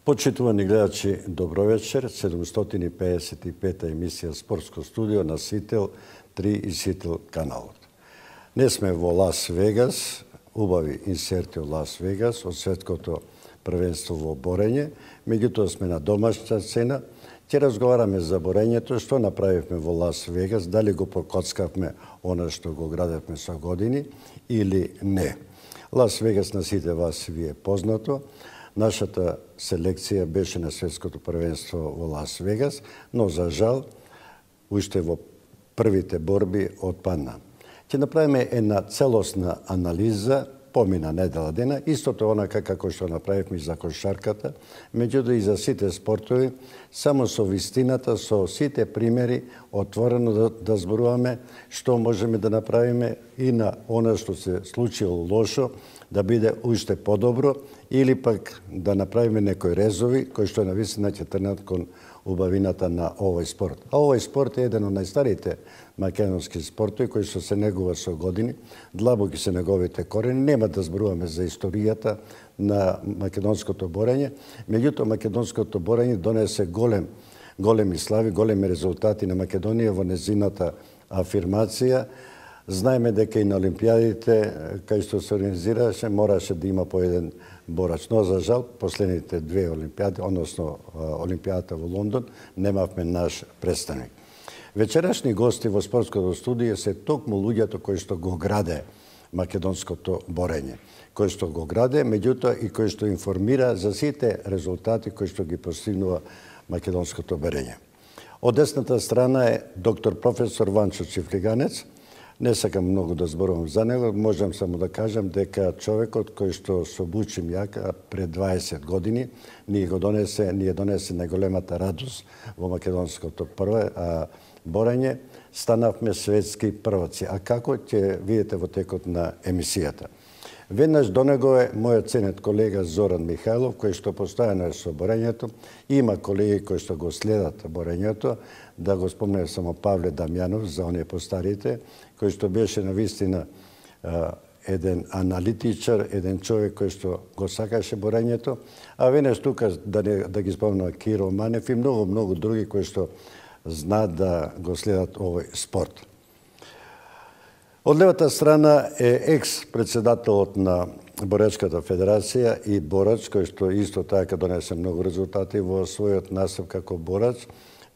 Почитувани гледачи, добро вечер. 755 емисија Спортско студио на Сител 3 и Сител каналот. Не сме во Лас Вегас, убави инсерти од Лас Вегас, од светското првенство во борење, меѓутоа сме на домашна сцена. Ќе разговараме за борењето, што направивме во Лас Вегас, дали го покоцкавме она што го градевме со години или не. Лас Вегас на сите вас ви е познато. Нашата селекција беше на светското првенство во Лас Вегас, но за жал, уште во првите борби отпадна. Ќе направиме една целосна анализа, помина недела дена, истото онака како што направивме за кошарката, меѓутоа и за сите спортови, само со вистината, со сите примери, отворено да зборуваме што можеме да направиме и на она што се случило лошо, да биде уште подобро, или пак да направиме некои резови кои што навистина ќе трнат кон убавината на овој спорт. А овој спорт е еден од најстарите македонски спортови кои што се негува со години, длабоки се неговите корени. Нема да зборуваме за историјата на македонското борење, меѓутоа македонското борење донесе големи слави, големи резултати на Македонија во незината афирмација. Знаеме дека и на олимпијадите, кај што се организираше, мораше да има по еден борач. Но, за жал, последните две олимпијади, односно олимпијадата во Лондон, немавме наш представник. Вечерашни гости во спортското студио се токму луѓето кои што го граде македонското борење, кои што го граде, меѓутоа и кои што информира за сите резултати кои што ги постигнува македонското борење. Од десната страна е доктор професор Ванчо Чифлиганец. Не сакам многу да зборувам за него, можам само да кажам дека човекот кој што со бучим јака пред 20 години ни донесе најголемата радост во македонското борење, станавме светски прваци. А како ќе видите во текот на емисијата? Веднаш до него е мојот ценет колега Зоран Михајлов, кој што постојано е со борењето. Има колеги кои што го следат борењето, да го спомнем само Павле Дамјанов, за оние постарите, кој што беше навистина еден аналитичар, еден човек кој што го сакаше борењето, а веднаш тука да ги спомнам Киро Манев и многу други кои што знаат да го следат овој спорт. Од левата страна е екс-председателот на Боречката федерација и борач, кој што исто така донесе многу резултати во својот настап како борач,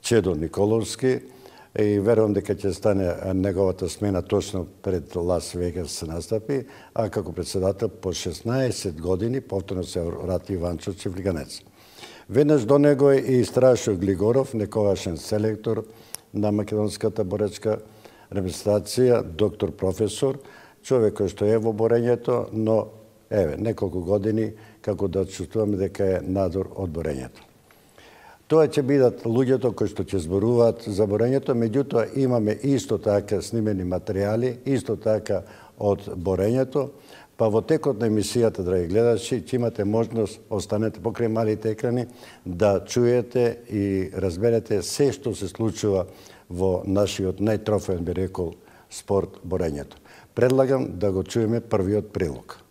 Чедо Николовски, и верувам дека ќе стане неговата смена точно пред Лас Вегас се настапи, а како председател по 16 години повторно се врати Ванчо Чифлиганец. Веднаш до него е и Страшо Глигоров, некогашен селектор на македонската боречка репрезентација, доктор професор, човек кој што е во борењето, но неколку години како да чувствуваме дека е надор од борењето. Тоа ќе бидат луѓето кои што ќе зборуваат за борењето, меѓутоа имаме исто така снимени материјали, исто така од борењето, па во текот на емисијата, драги гледачи, ќе имате можност, останете покрај малите екрани, да чуете и разберете се што се случува во нашиот најтрофеен, би рекол, спорт борењето. Предлагам да го чуеме првиот прилог.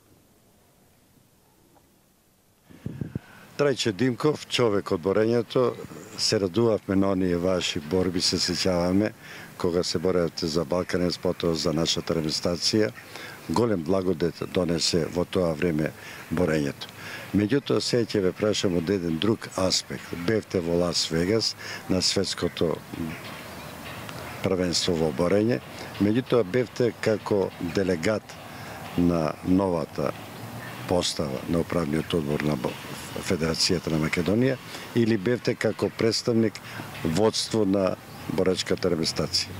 Трајче Димков, човек од борењето, се радувавме на оние ваши борби, се сеќаваме, кога се боревте за Балканец, потоа за нашата репрезентација. Голем благодет донесе во тоа време борењето. Меѓутоа, сега ќе ве прашам од еден друг аспект. Бевте во Лас Вегас на светското првенство во борење, меѓутоа бевте како делегат на новата постава на управниот одбор на Федерацијата на Македонија или бевте како представник водство на боречката репрезентација?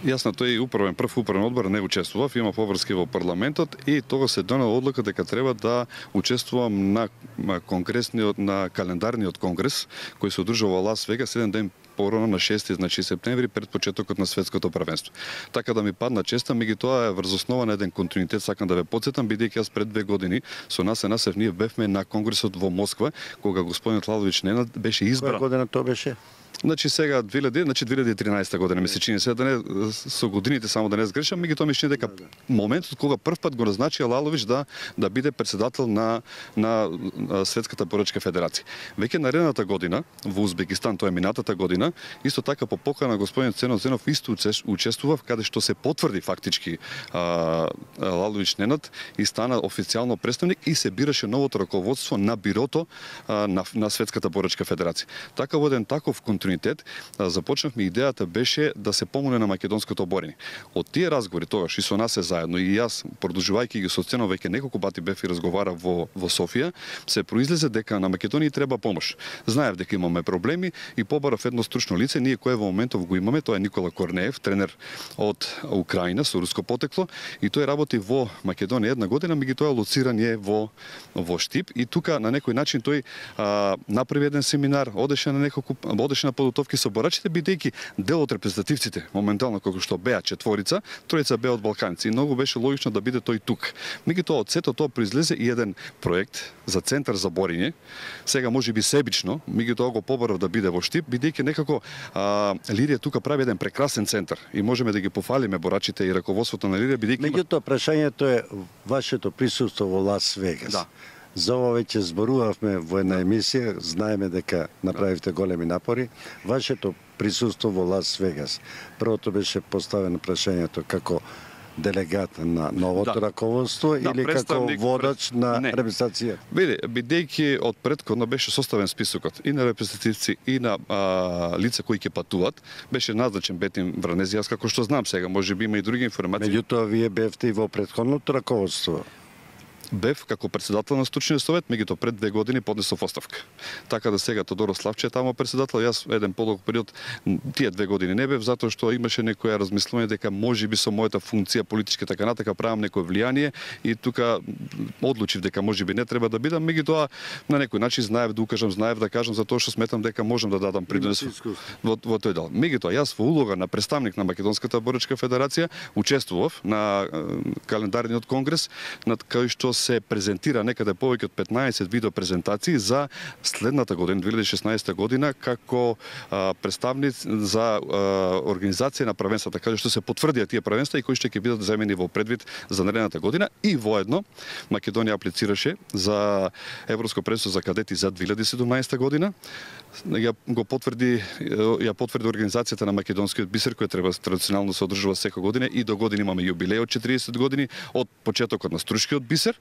Јас на тој прв управен одбор не учествував, има поврски во парламентот и тога се донела одлука дека треба да учествувам на календарниот конгрес кој се одржува во Лас Вегас еден ден порано на 6 септември пред почетокот на светското првенство. Така да ми падна честа, меѓутоа е врз основа на еден континуитет, сакам да ве потсетам, бидејќи јас пред 2 години со нас ние бевме на конгресот во Москва, кога господинот Лалович Ненад беше избран. Која година тоа беше? Значи сега 2013 година ми се чини, се да не со годините само да не сгрешам, меѓутоа ми чини дека моментот кога првпат го назначи Лалович да биде председател на Светската борачка федерација. Веќе наредната година во Узбекистан, тоа е минатата година, исто така по покана господин Ценот Зенов исто учествував каде што се потврди фактички Лалович Ненад и стана официјално представник и се бираше новото раководство на бирото на Светската борачка федерација. Така во еден таков континуитет започнавме, идејата беше да се помогне на македонското борење. Од тие разговори тогаш и со нас е заедно и јас продолжувајќи ги со Ценов, веќе неколку пати бев и разговарав во Софија, се произлезе дека на Македонија треба помош. Знаев дека имаме проблеми и побарав едно стручно лице, ние кое во моментов го имаме, тоа е Никола Корнеев, тренер од Украина со руско потекло, и тој работи во Македонија една година, меѓутоа лоциран е во Штип и тука на некој начин тој направи еден семинар, одеше на подготовки со борачите, бидејќи дел од репрезентативците моментално како што беа четворица, тројца беа од балканици и многу беше логично да биде тој тук. Меѓутоа од сето тоа произлезе и еден проект за центар за борење. Сега можеби себично, меѓутоа го побарав да биде во Штип, бидејќи некако Лирија тука прави еден прекрасен центар и можеме да ги пофалиме борачите и раководството на Лирија, бидејќи меѓутоа прашањето е вашето присуство во Лас Вегас. Да. За ова веќе зборувавме во една емисија, знаеме дека направивте големи напори. Вашето присуство во Лас Вегас. Првото беше поставено прашањето како делегат на новото раководство или како водач на репрезентација? Бидејќи од претходно беше составен списокот и на репрезентативци и на лица кои ќе патуват, беше назначен Бетин Вранези, јас како што знам сега, можеби има и други информации. Меѓутоа вие бевте и во претходното раководство. Бев како председател на Стручниот совет, меѓутоа пред 2 години поднесов оставка. Така да сега Тодоро Славче е таму председател, јас еден подолг период, тие 2 години не бев, затоа што имаше некоја размислување дека можеби со мојата функција политичка така натака правам некој влијание и тука одлучив дека можеби не треба да бидам, меѓутоа на некој начин знаев да укажам, знаев да кажам за тоа што сметам дека можам да дадам принос во тој дел. Меѓутоа јас во улога на представник на Македонската борачка федерација учествував на календарниот конгрес над кај што се презентира некаде повеќе од 15 видео презентации за следната година, 2016 година, како представник за организација на првенствата, каде што се потврдија тие првенства и кои што ќе бидат земени во предвид за наредната година. И воедно Македонија аплицираше за Европско првенство за кадети за 2017 година. Ја потврди организацијата на македонскиот бисер, кој треба традиционално се одржува секоја година и до година имаме јубилеј од 40 години од почетокот на стручкиот бисер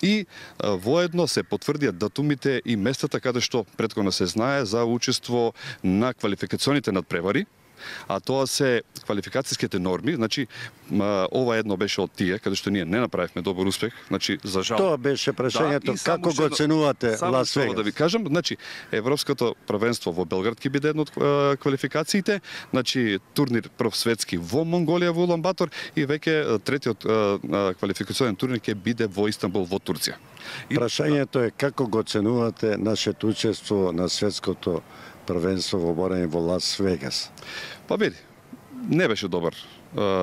и воедно се потврдија датумите и местата каде што претходно се знае за учество на квалификационите надпревари. А тоа се квалификацијските норми, значи ова едно беше од тие каде што ние не направивме добар успех, значи за жал. Тоа беше прашањето, како го оценувате Лас Вегас? Да ви кажам, значи Европското првенство во Белград ќе биде една од квалификациите, значи турнир прв светски во Монголија во Улан Батор и веќе третиот квалификационен турнир ќе биде во Истанбул во Турција. Прашањето е како го оценувате нашето учество на светското првенство во борење во Лас Вегас? Па види, не беше добар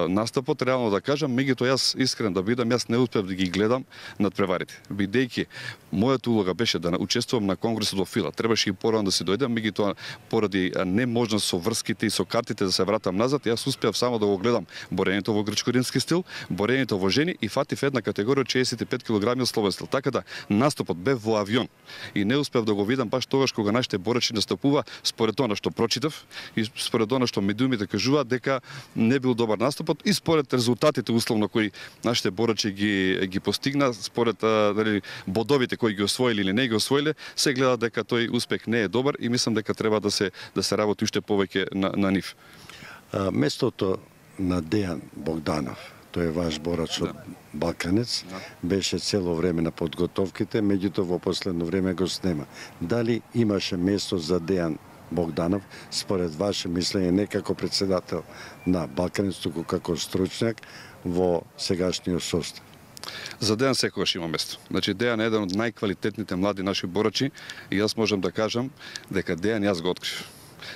настапот, реално да кажам, меѓутоа јас искрен да бидам, јас не успев да ги гледам надпреварите, бидејќи мојата улога беше да учествувам на конгресот во Фила. Требаше и порано да си дојдам, меѓутоа поради неможност со врските и со картите да се вратам назад, јас успеав само да го гледам борењето во грчко-римски стил, борењето во жени и фатив една категорија од 65 кг од слободен стил. Така да настапот бев во авион и не успев да го видам баш тогаш кога нашите борачи настапува, според тоа што прочитав и според тоа што медиумите кажуваат дека не бил добар настапот и според резултатите условно кои нашите борачи ги постигна, според бодовите кои ги освоили или не ги освоиле, се гледа дека тој успех не е добар и мислам дека треба да се работи уште повеќе на нив. Местото на Дејан Богданов, тој е ваш борач од Балканец, беше цело време на подготовките, меѓутоа во последно време го снема. Дали имаше место за Дејан Богданов, според ваше мислење, не како председател на Балканец, туку како стручњак во сегашниот состав? За Дејан секогаш има место. Значи Дејан е еден од најквалитетните млади наши борачи и јас можам да кажам дека Дејан јас го открив.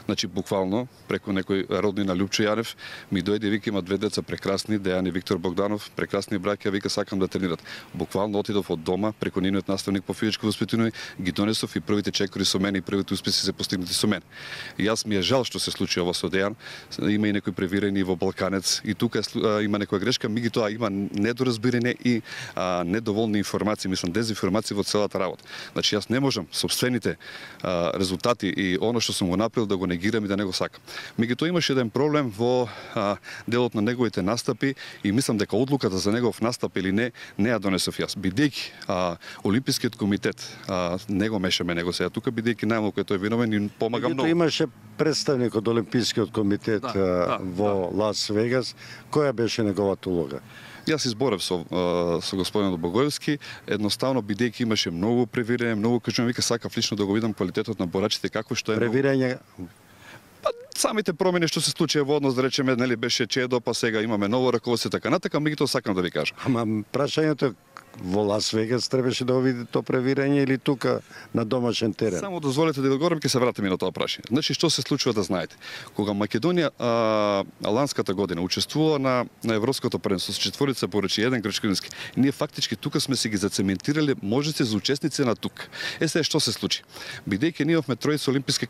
Значи буквално преку некој роднина Лјупчо Јанев ми дојде и вика има две деца прекрасни, Дејан и Виктор Богданов, прекрасни браќа, вика сакам да тренират. Буквално отидов од дома преку нивниот наставник по физичко воспитание, ги донесов и првите чекори со мене и првите успеси се постигнати со мене. И јас ми е жал што се случи ова со Дејан. Има и некои превирени во Балканец и тука има некоја грешка, меѓутоа има недоразбирање и недоволни информации, мислам дезинформации во целата работа. Значи јас не можам сопствените резултати и она што сум го направил да го негирам и да не го сакам. Меѓутоа имаше еден проблем во делот на неговите настапи и мислам дека одлуката за негов настап или не ја донесов јас. Бидејќи Олимпискиот комитет не го мешаме него сега тука, бидејќи најмалку е тој виновен и помага многу. Имаше представник од Олимпискиот комитет во Лас Вегас. Која беше неговата улога? Јас изборев со господинот Богоевски, едноставно бидејќи имаше многу превирање, многу кажувам, вика сакав лично да го видам квалитетот на борачите како што е. Превирање самите промени што се случија во однос, да речеме, нели беше чедо, па сега имаме ново раководство така натака, меѓутоа сакам да ви кажам. Ама прашањето во Лас Вегас требаше да го види тоа превирање или тука на домашен терен? Само дозволете да ви одговорам, ќе се вратиме на тоа прашање. Значи што се случува да знаете. Кога Македонија ланската година учествува на европското првенство со четворица порачи, еден грчкински, ние фактички тука сме си ги зацементирале можности за учесници на тук. Сега што се случи? Бидејќи ние имавме тројца олимписки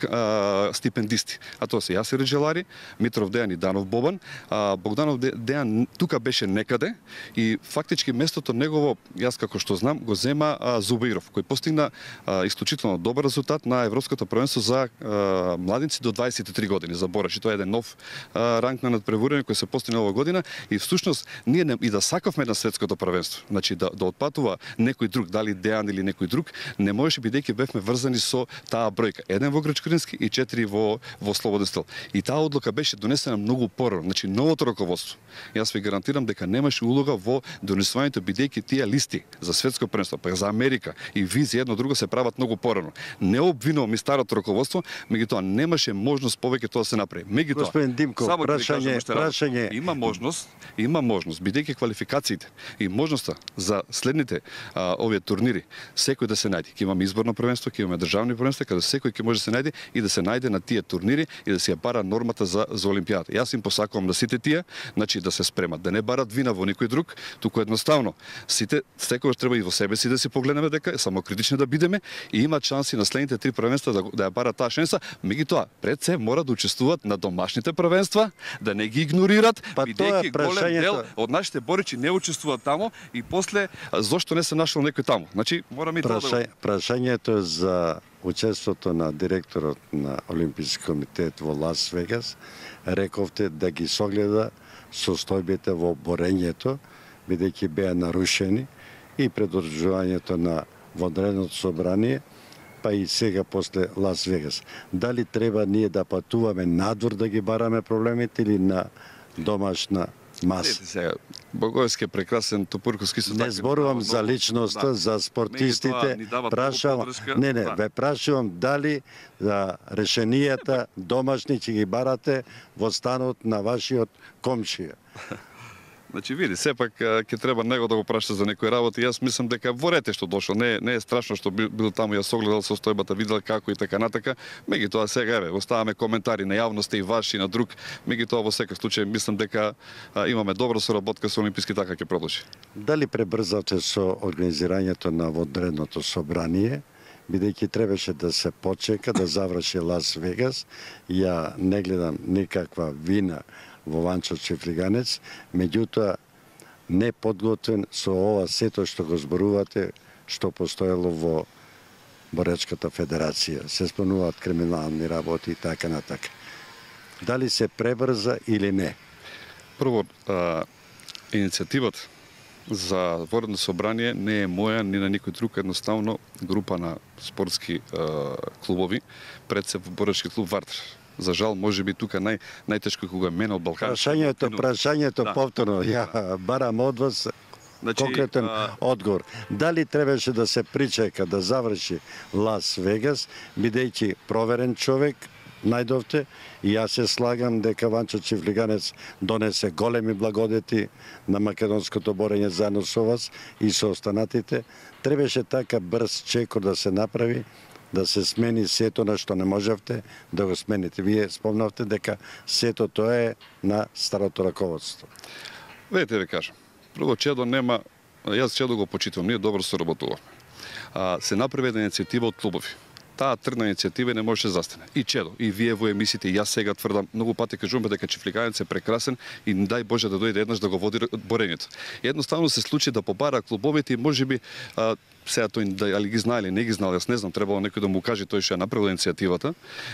стипендисти, а тоа се Јасир Джелари, Митров Дејан и Данов Бобан, Богданов Дејан тука беше некаде и фактички местото негово, јас како што знам, го зема Зубаиров, кој постигна исклучително добар резултат на европското првенство за младинци до 23 години за борачи. Тоа е еден нов ранг на надпреварување кој се постигна оваа година и всушност ние и да сакавме на светското првенство, значи да отпатува некој друг, дали Дејан или некој друг, не можеше бидејќи бевме врзани со таа бројка. Еден во грчкински и 4 во слободен стил. И таа одлука беше донесена многу порано, значи новото раководство. Јас ви гарантирам дека немаше улога во донесувањето бидејќи тие листи за светско првенство, па за Америка и визи едно друго се прават многу порано. Не обвинувам и старото раководство, меѓутоа немаше можност повеќе тоа да се направи. Меѓутоа, господин Димко, прашање има можност бидејќи квалификациите и можноста за следните овие турнири, секој да се најде. Ќе имаме изборно првенство, ќе имаме државни првенства, каде секој ќе може да се најде и да се најде на тие турнири и да се ја бара нормата за олимпијата. Јас им посакувам на сите тие, значи да се спремат, да не барат вина во никој друг, туку едноставно сите секогаш треба и во себе си да си погледнеме дека самокритични да бидеме и имаат шанси на следните 3 првенства да ја барат таа шанса, меѓутоа пред се мора да учествуваат на домашните првенства, да не ги игнорират, бидејќи голем дел од нашите боричи не учествуваат таму и после зошто не се нашол некој таму. Значи мораме и тоа да прашањето за учеството на директорот на Олимписки комитет во Лас Вегас, рековте да ги согледа состојбите во борењето, бидејќи беа нарушени и предржувањето на вонредното собрание, па и сега после Лас Вегас. Дали треба ние да патуваме надвор да ги бараме проблемите или на домашна маса? Сега, Богоевски е прекрасен, Топурковски се така. Не зборувам за личноста, за спортистите. Ве прашувам дали за решенијата домашни ќе ги барате во станот на вашиот комшија. Значи види, сепак ќе треба него да го прашате за некои работи. Јас мислам дека во рете што дошол, не е страшно што бил таму, јас огледал состојбата, видел како и така натака. Меѓутоа сега оставаме коментари на јавноста и ваши и на друг. Меѓутоа во секој случај мислам дека имаме добра соработка со Олимписки, така ќе продолжи. Дали пребрзавте со организирањето на вонредното собрание? Бидејќи требаше да се почека да заврши Лас Вегас, ја не гледам никаква вина во Ванчо Чифлиганец, меѓутоа не подготвен со ова сето што го зборувате, што постоело во Боречката федерација. Се спомнуваат криминални работи и така натака. Дали се пребрза или не? Прво, иницијативата за вонредно собрание не е моја, ни на никој друг, едноставно група на спортски клубови, пред се боречки клуб Вартер. За жал, може би тука најтешко кога мене од Балкан. Прашањето повторно, ја барам од вас конкретен одговор. Дали требаше да се причека да заврши Лас Вегас, бидејќи проверен човек, најдовте, и јас се слагам дека Ванчо Чифлиганец донесе големи благодети на македонското борење заедно со вас и со останатите. Требаше така брз чекор да се направи, да се смени сето на што не можевте да го смените. Вие спомнавте дека сето тоа е на старото раководство. Видите ви кажам. Прво Чедо нема, јас Чедо го почитувам, ние добро соработуваме. Се направи една иницијатива од клубови. Таа тргна иницијатива не можеше да застане. И Чедо, и вие во емисиите, и јас сега тврдам, многу пати кажуваме дека Чифликанец е прекрасен и дај Боже да дојде еднаш да го води борењето. Едноставно се случи да побара клубовите и можеби сега тој дали ги знае или не ги знае, јас не знам, требало некој да му каже тој што ја направил иницијативата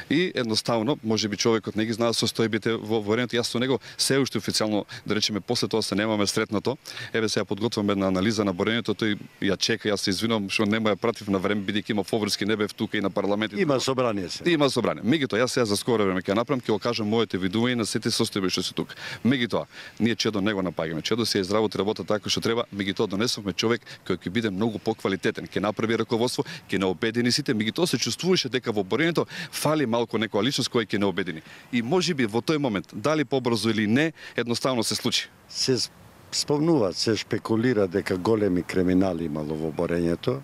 и едноставно можеби човекот не ги знае состојбите во борењето. Јас со него се уште официјално, да речеме, после тоа се немаме сретнато. Еве сега подготвуваме една анализа на борењето, тој ја чека, јас се извинувам што нема ја пратив на време бидејќи има Фоврски, не бев тука и на парламентот. Има собрание се. Има собрание. Меѓутоа јас сега за скоро време ќе направам, ќе го кажам моите видувања на сите состојби што се тука. Меѓутоа, ние Чедо не го напаѓаме. Чедо се изработи работа така што треба, меѓутоа донесовме човек кој ќе биде многу поквалитетен, ќе направи раководство, ќе не обедини сите, меѓутоа се чувствуваше дека во борењето фали малку некоја личност која ќе не обедини. И можеби во тој момент, дали побрзо или не, едноставно се случи. Се спомнува, се шпекулира дека големи криминали имало во борењето,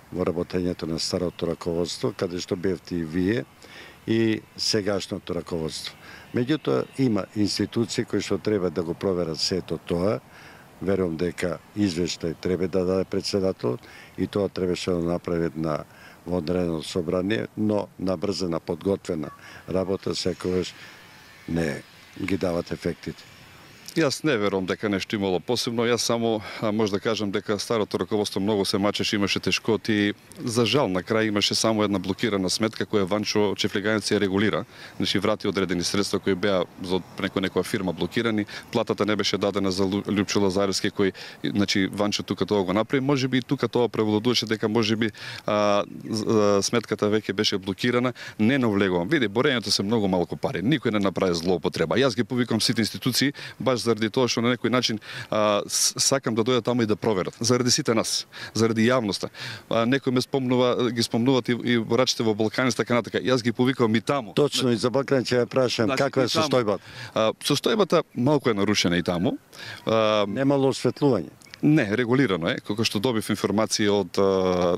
во работењето на старото раководство, каде што бевте и вие, и сегашното раководство. Меѓутоа, има институции кои што треба да го проверат сето тоа. Верувам дека извештај треба да даде председателот и тоа требаше да направи на одредено собрание, но набрзена, подготвена работа секогаш не ги дават ефектите. Јас не верувам дека нешто имало посебно, јас само може да кажам дека старото раководство многу се мачеше, имаше тешкоти. За жал на крај имаше само една блокирана сметка која Ванчо Чифликанец ја регулира. Значи врати одредени средства кои беа за некоја фирма блокирани, платата не беше дадена за Лјупчо Лазаревски кој значи Ванчо тука тоа го направи, можеби и тука тоа превладуваше дека можеби сметката веќе беше блокирана, не навлегувам. Види, борењето се многу малку пари, никој не направи злоупотреба. Јас ги повикам сите институции баш заради тоа што на некој начин сакам да дојдат таму и да проверат. Заради сите нас, заради јавноста. Некој ме спомнува, ги спомнуваат и борачите во Балканец, така натака. Јас ги повикувам и таму. Точно, и за Балкан ќе ја прашам, каква е состојбата? Состојбата малку е нарушена и таму. Немало осветлување. Не, регулирано е, како што добив информација од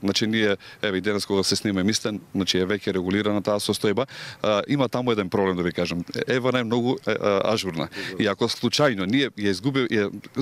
значи ние еве и денес кога се снима емисија, значи е веќе регулирана таа состојба. Има таму еден проблем да ви кажам. Ева е многу ажурна. И ако случајно ние ја изгубил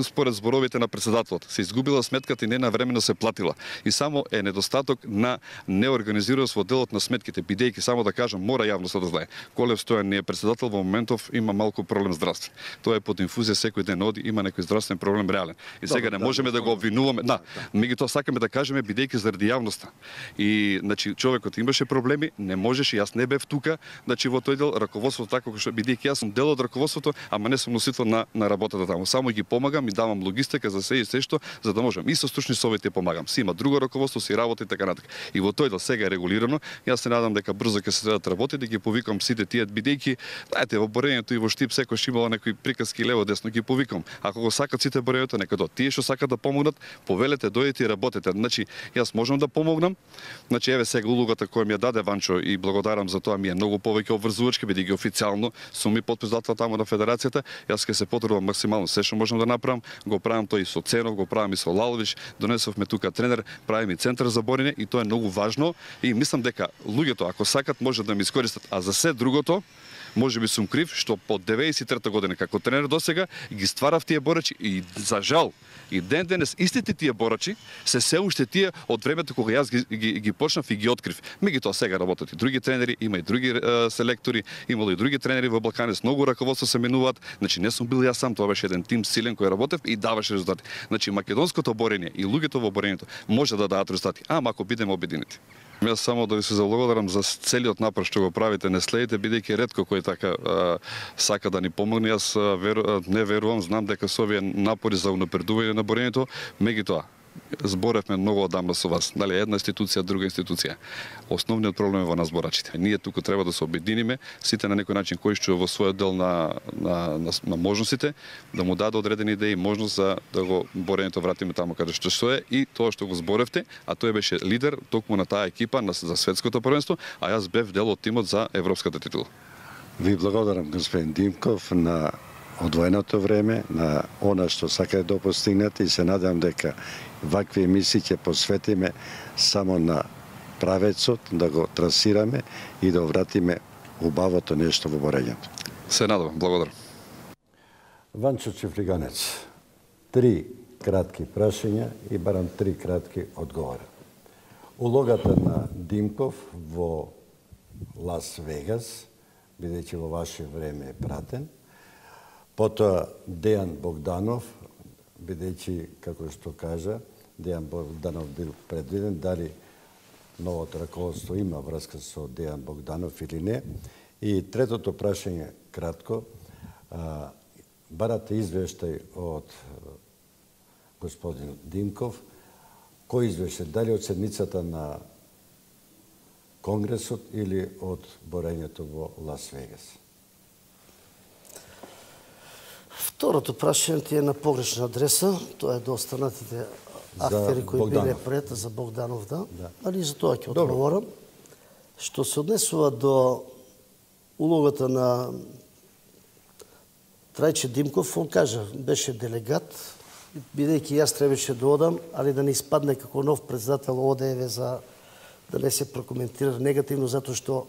според зборовите на председателот, се изгубила сметката и не навремено се платила. И само е недостаток на неорганизираност во делот на сметките, бидејќи само да кажам, мора јавноста да знае. Колев Стојан не е председател во моментов, има малку проблем здравствен. Тоа е под инфузија, секој ден оди, има некој здравствен проблем реален. И сега не можеме да го обвинуваме. Да, меѓутоа сакаме да кажеме бидејќи заради јавноста. И значи човекот имаше проблеми, не можеше, јас не бев тука, значи во тој дел раководството така што бидејќи јас сум дел од раководството, ама не сум носител на работата таму. Само ги помагам и давам логистика за се и се што за да можам и со стручни совети помагам. Си има друго раководство, си работи така натака. И во тој дел сега е регулирано. Јас се надам дека брзо ќе се следат работи, да ги повикам сите тие бидејќи знаете во борењето и во Штип секојаш имало некои приказки лево десно, ги повикам. Ако го сакат сите борењето, нека до тие што сакат да помогнат, повелете, дојдете и работете. Значи, јас можам да помогнам. Значи, еве сега улогата која ми ја даде Ванчо и благодарам за тоа, ми е многу повеќе обврзувачки, бидејќи официјално сум и потписател таму на федерацијата. Јас ќе се потрудам максимално се што можам да направам. Го правам тој и со Ценов, го правам и со Лалович, донесовме тука тренер, правим и центар за борење и тоа е многу важно и мислам дека луѓето ако сакат може да ми искористат, а за се другото можеби сум крив што по 93-та година како тренер досега ги стварав тие борачи и за жал и ден денес истите тие борачи се уште тие од времето кога јас ги почнав и ги открив. Меѓутоа сега работат и други тренери, има и други селектори, имало и други тренери во Балканец, многу раководство се менуваат. Значи не сум бил јас сам, тоа беше еден тим силен кој работев и даваше резултати. Значи македонското борење и луѓето во борењето може да дадат резултати, ама ако бидеме обединети. Јас само да ви се заблагодарам за целиот напор што го правите, не следите, бидејќи ретко кој така сака да ни помогне. Јас не верувам, знам дека со овие напори за унапредување на борењето, меѓутоа зборевме многу одамна со вас, дали една институција, друга институција. Основниот проблем е во нас борачите. Ние тука треба да се обединиме, сите на некој начин кој што во својот дел на можностите, да му даде одредени идеи, можност за да го борењето вратиме таму каде што е и тоа што го зборевте, а тој беше лидер токму на таа екипа за светското првенство, а јас бев дел од тимот за европската титула. Ви благодарам господин Димков на одвоеното време, на она што сакате да постигнете и се надам дека вакви емисии ќе посветиме само на правецот, да го трасираме и да вратиме убавото нешто во борењето. Се надевам, благодарам. Ванчо Чифлиганец, 3 кратки прашања и барам 3 кратки одговора. Улогата на Димков во Лас Вегас, бидејќи во ваше време е пратен. Потоа Дејан Богданов, бидејќи, како што кажа, Дејан Богданов бил предвиден, дали новото раководство има врска со Дејан Богданов или не. И третото прашање, кратко, барате извештај од господин Димков, кој извештај, дали од седмицата на Конгресот или од борењето во Лас Вегас? Второто прашање ти е на погрешна адреса, тоа е до останатите актери кои биле пред за Богданов, да. Али за тоа ќе одговорам. Што се однесува до улогата на Трајче Димков, он кажа, беше делегат, бидејќи јас требаше да одам, али да не испадне како нов председател ОДЕВ за да не се прокоментира негативно, затоа што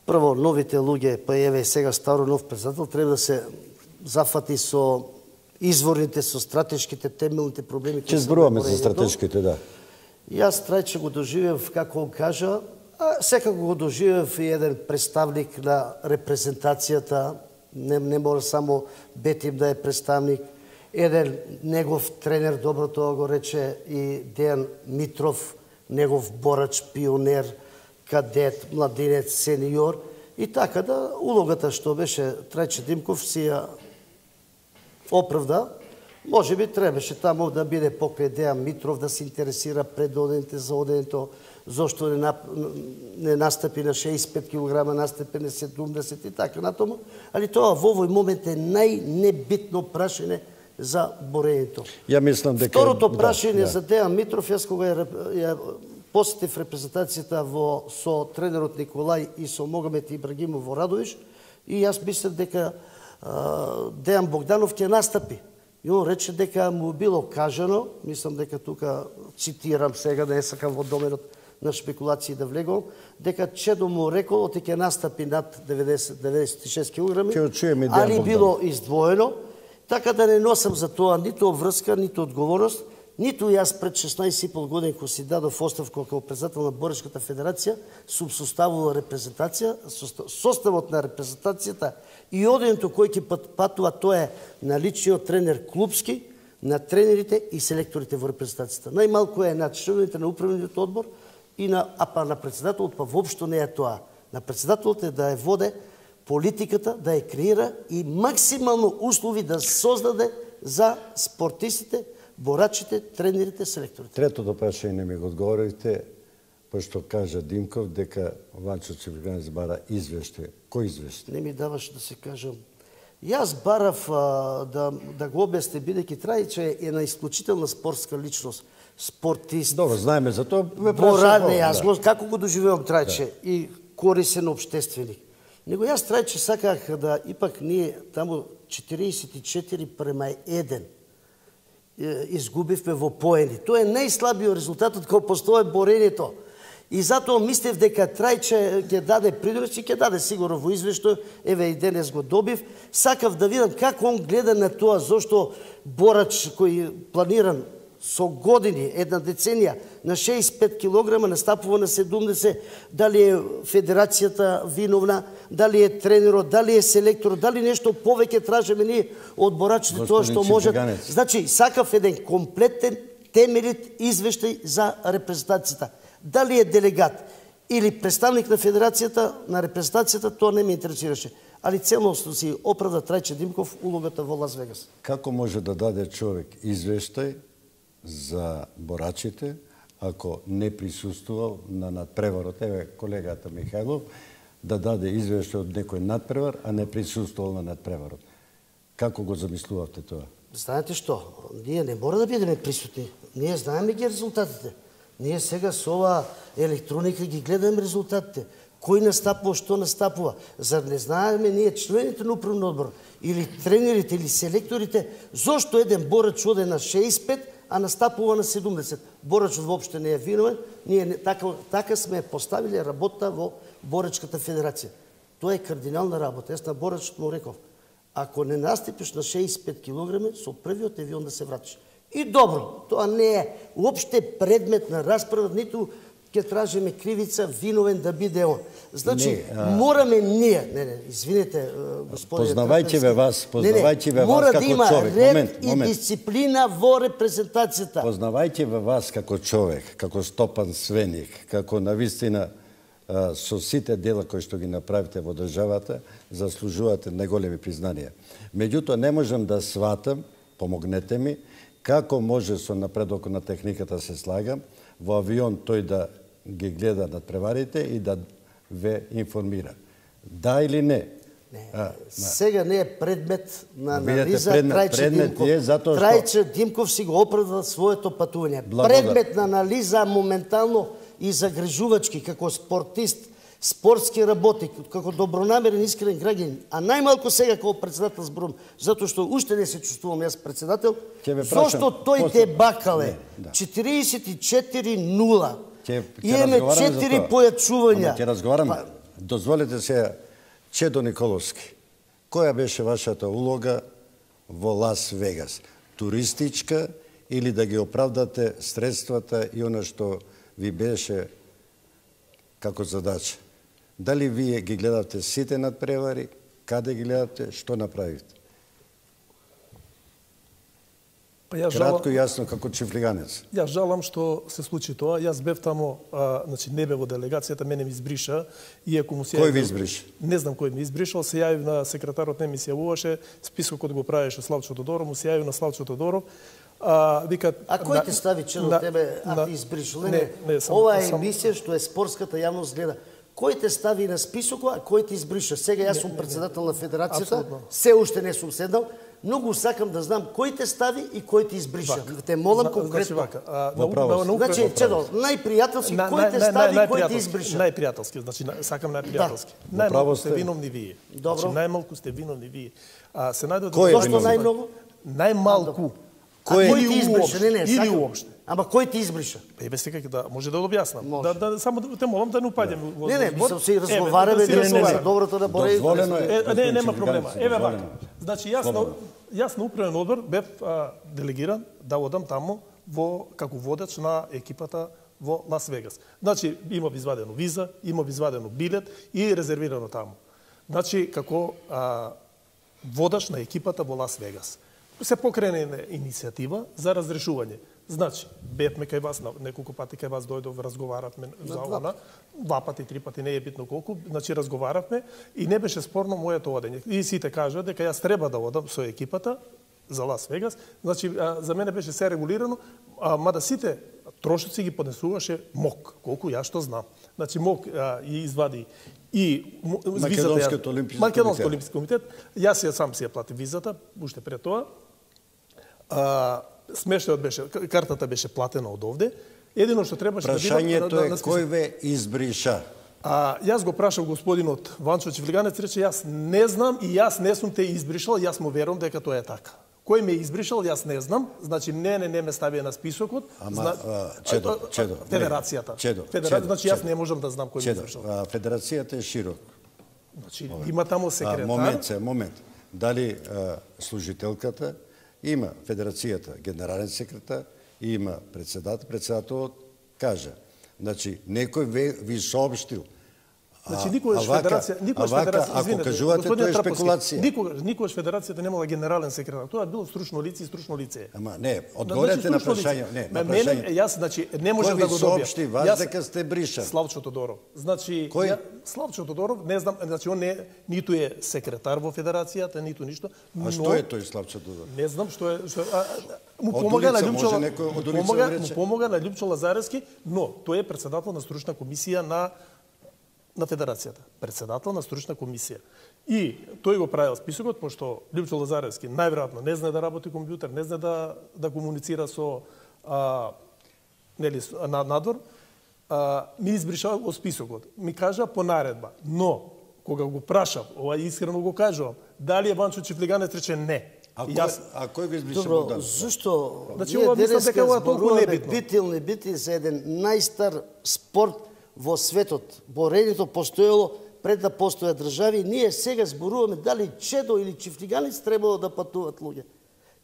прво новите луѓе, па еве сега старо нов председател, треба да се зафати со изворните, со стратешките, темелните проблеми. Ќе зборуваме за стратешките, да. Јас Трајче го доживев, како он кажа, а секако го доживев и еден представник на репрезентацијата, не мора само Бетим да е представник, еден негов тренер, добро тоа го рече и Дејан Митров, негов борач, пионер, кадет, младинец, сениор. И така да, улогата што беше Трајче Димков си ја оправда. Може би требаше таму да биде покрај Дејан Митров, да се интересира пред одените за одењето, зошто не настапи на 65 кг, настапи на 70 и така натаму. Али тоа во овој момент е најнебитно прашање за борењето. Ја мислам дека второто прашање за Дејан Митров, јас кога ја посетив репрезентацијата со тренерот Николај и со Могамет Ибрагимов во Радовиш, и јас мислев дека Дејан Богданов ќе настапи. И он рече дека му било кажано, мислам дека тука цитирам сега, не сакам во доменот на шпекулации да влегувам, дека Чедо му рекол оти ќе настапи над 96 кг, али било издвоено, така да не носам за тоа ниту обврска, ниту одговорност, ниту јас пред 16,5 години кога си дадов оставка како председател на Борешката федерација, сум составувал репрезентација, составот на репрезентацијата и одењето кој ќе патува, тоа е на личниот тренер клубски, на тренерите и селекторите во репрезентацијата. Најмалку е на членовите на управниот одбор и на председателот, па воопшто не е тоа. На председателот е да ја воде политиката, да ја креира и максимално услови да создаде за спортистите, борачите, тренерите, селекторите. Третото прашање не ми го одговорите, пошто кажа Димков дека Ванчо Чифлиганец бара извештај. Кој извештај? Не ми даваш да се кажам. Јас барав да го објасне, бидејќи Трајче е на исклучителна спортска личност, спортист. Добро, знаеме за тоа. Борадне, јас како го доживевам Трајче и корисен обштественик. Него јас Трајче саках да ипак ние таму 44:1 изгубивме во поени. Тоа е најслабиот резултатот кога постои борењето. И затоа мислев дека Трајче ќе даде придонес и ќе даде сигурно во извештај, еве и денес го добив. Сакав да видам како он гледа на тоа, зошто борач кој планиран со години, една деценија, на 65 кг настапува на 70, дали е федерацијата виновна, дали е тренерот, дали е селекторот, дали нешто повеќе тражиме ние од борачите, тоа што можат. Значи, сакав еден комплетен, темелит извештај за репрезентацијата. Дали е делегат или представник на федерацијата, на репрезентацијата, тоа не ме интересираше. Али целосно си оправда Трајче Димков улогата во Лас Вегас. Како може да даде човек извештај за борачите ако не присуствувал на надпреварот? Еве колегата Михајлов да даде извештај од некој надпревар, а не присуствувал на надпреварот. Како го замислувавте тоа? Знаете што? Ние не мора да бидеме присутни. Ние знаеме ги резултатите. Ние сега со ова електроника ги гледаме резултатите. Кој настапува, што настапува. Зар не знаеме ние члените на управен одбор или тренерите или селекторите зошто еден борач оде на 65, а настапува на 70. Борачот воопште не е виновен, ние така сме поставили работа во Борачката федерација. Тоа е кардинална работа. Јас на борачот му реков, ако не настапиш на 65 кг, со првиот авион да се вратиш. И добро, тоа не е уопште предмет на расправа, ниту ќе тражиме кривица, виновен да биде он. Значи, мораме ние, извинете, господине, познавајќи ве вас мора како да има човек. ред и дисциплина во репрезентацијата. Познавајќи ве вас како човек, како Стопан Свеник, како навистина со сите дела кои што ги направите во државата, заслужувате најголеми признанија. Меѓутоа, не можам да сватам, помогнете ми, како може со напредокот на техниката се слагам, во авион тој да ги гледа надпреварите и да ве информира. Да или не? Сега не е предмет на анализа Трајче Димков. Трајче Димков си го оправда своето патување. Предмет на анализа моментално и загрижувачки како спортист, спортски работник, како добронамерен искрен граѓанин, а најмалку сега како председател зборувам, затоа што уште не се чувствувам јас председател, зашто тој те бакале 44-0. Имаме 4 појачувања. Ќе разговараме. Дозволете се, Чедо Николовски, која беше вашата улога во Лас Вегас? Туристичка или да ги оправдате средствата и она што ви беше како задача? Дали вие ги гледавте сите надпревари, каде ги гледавте, што направивте? Кратко и јасно како чифлиганец. Јас жалам што се случи тоа. Јас бев тамо, значи не бев во делегацијата, мене ми избриша, иако му се Кој ви избриша? Не знам кој ми избришал, се јавив на секретарот, не ми се јавуваше, списокот го правеше Славчо Тодоров, му се јавив на Славчо Тодоров. Вика, кој те стави Чедо тебе, а ти избришал? Ова е емисија што е спортската јавност гледа. Кој те стави на списокот, а кој те избриша? Сега јас сум председател на федерацијата, се уште не сум седнал. Многу сакам да знам кој те стави и кој те избриша. Те молам конкретно. Значи, Чедо, најпријателски, кој те стави и кој те избриша? Најпријателски, значи сакам најпријателски. Најмалку сте виновни вие. Значи, најмалку сте виновни вие. Се најдоа Зошто најмногу? Најмалку. Кој ти избриша? Или уопште. Ама кој ти избриша? Бе сега да може да објаснам. Да само те молам да не упадам во. Не, мислам се разговараме за доброто на Бореј. Дозволено е. Не, нема проблема. Еве вака. Значи јас на управен одбор бев делегиран да одам таму како водач на екипата во Лас Вегас. Значи имав извадено виза, имав извадено билет и резервирано таму. Значи како водач на екипата во Лас Вегас. Се покрене иницијатива за разрешување. Значи, бевме кај вас, неколку пати кај вас дојдов, разговаравме за она, 2 пати, 3 пати, не е битно колку, значи разговаравме и не беше спорно моето одење. И сите кажаа дека јас треба да одам со екипата за Лас Вегас, значи за мене беше се регулирано, мада сите трошоци ги поднесуваше МОК, колку јас што знам. Значи МОК и извади и Македонскиот олимписки комитет, јас ја сам си ја платив визата, уште пред тоа. Смештајот беше, картата беше платена од овде. Едино што требаше да бидам... Прашањето е кој ве избриша? Јас го прашав господинот Ванчо Чифлиганец, рече јас не знам и јас не сум те избришал, јас му верувам дека тоа е така. Кој ме избришал, јас не знам, значи не ме ставија на списокот. Чедо. Федерацијата. Значи јас не можам да знам кој ме избришал. Федерацијата е широк. Значи има таму секретар. Момент. Дали служителката има федерацијата генерален секретар и има председателот кажа. Значи некој ви соопштил. Значи никогаш федерација, ако кажувате тоа е спекулација. Никогаш федерацијата немала генерален секретар. Тоа било стручно лице и стручно лице. Ама не, одговорете на прашање, не, на прашање. Јас значи не можам да го добијам. Кој ви соопшти вас дека сте бришан? Славчо Тодоров. Значи Славчо Тодоров, не знам, значи он не ниту е секретар во федерацијата, ниту ништо. А што е тој Славчо Тодоров? Не знам што е, му помага на Љупчо Лазаревски, но тој е председател на стручна комисија на федерацијата, председател на стручна комисија. И тој го правил списокот, пошто Љупчо Лазаревски најверојатно не знае да работи компјутер, не знае да комуницира со надвор, ми избриша од списокот. Ми кажа по наредба, но кога го прашав, ова искрено го кажувам, дали е Ванчо Чифлиганец, рече не. А кој го избрише Добро, Богдан? зашто Значи, ние ова мислам дека ова денеска е толку зборуваме небитно. бити или не бити за еден најстар спорт во светот. Борението постоело пред да постојат држави. Ние сега зборуваме дали чедо или чифлиганец требало да патуват луѓе.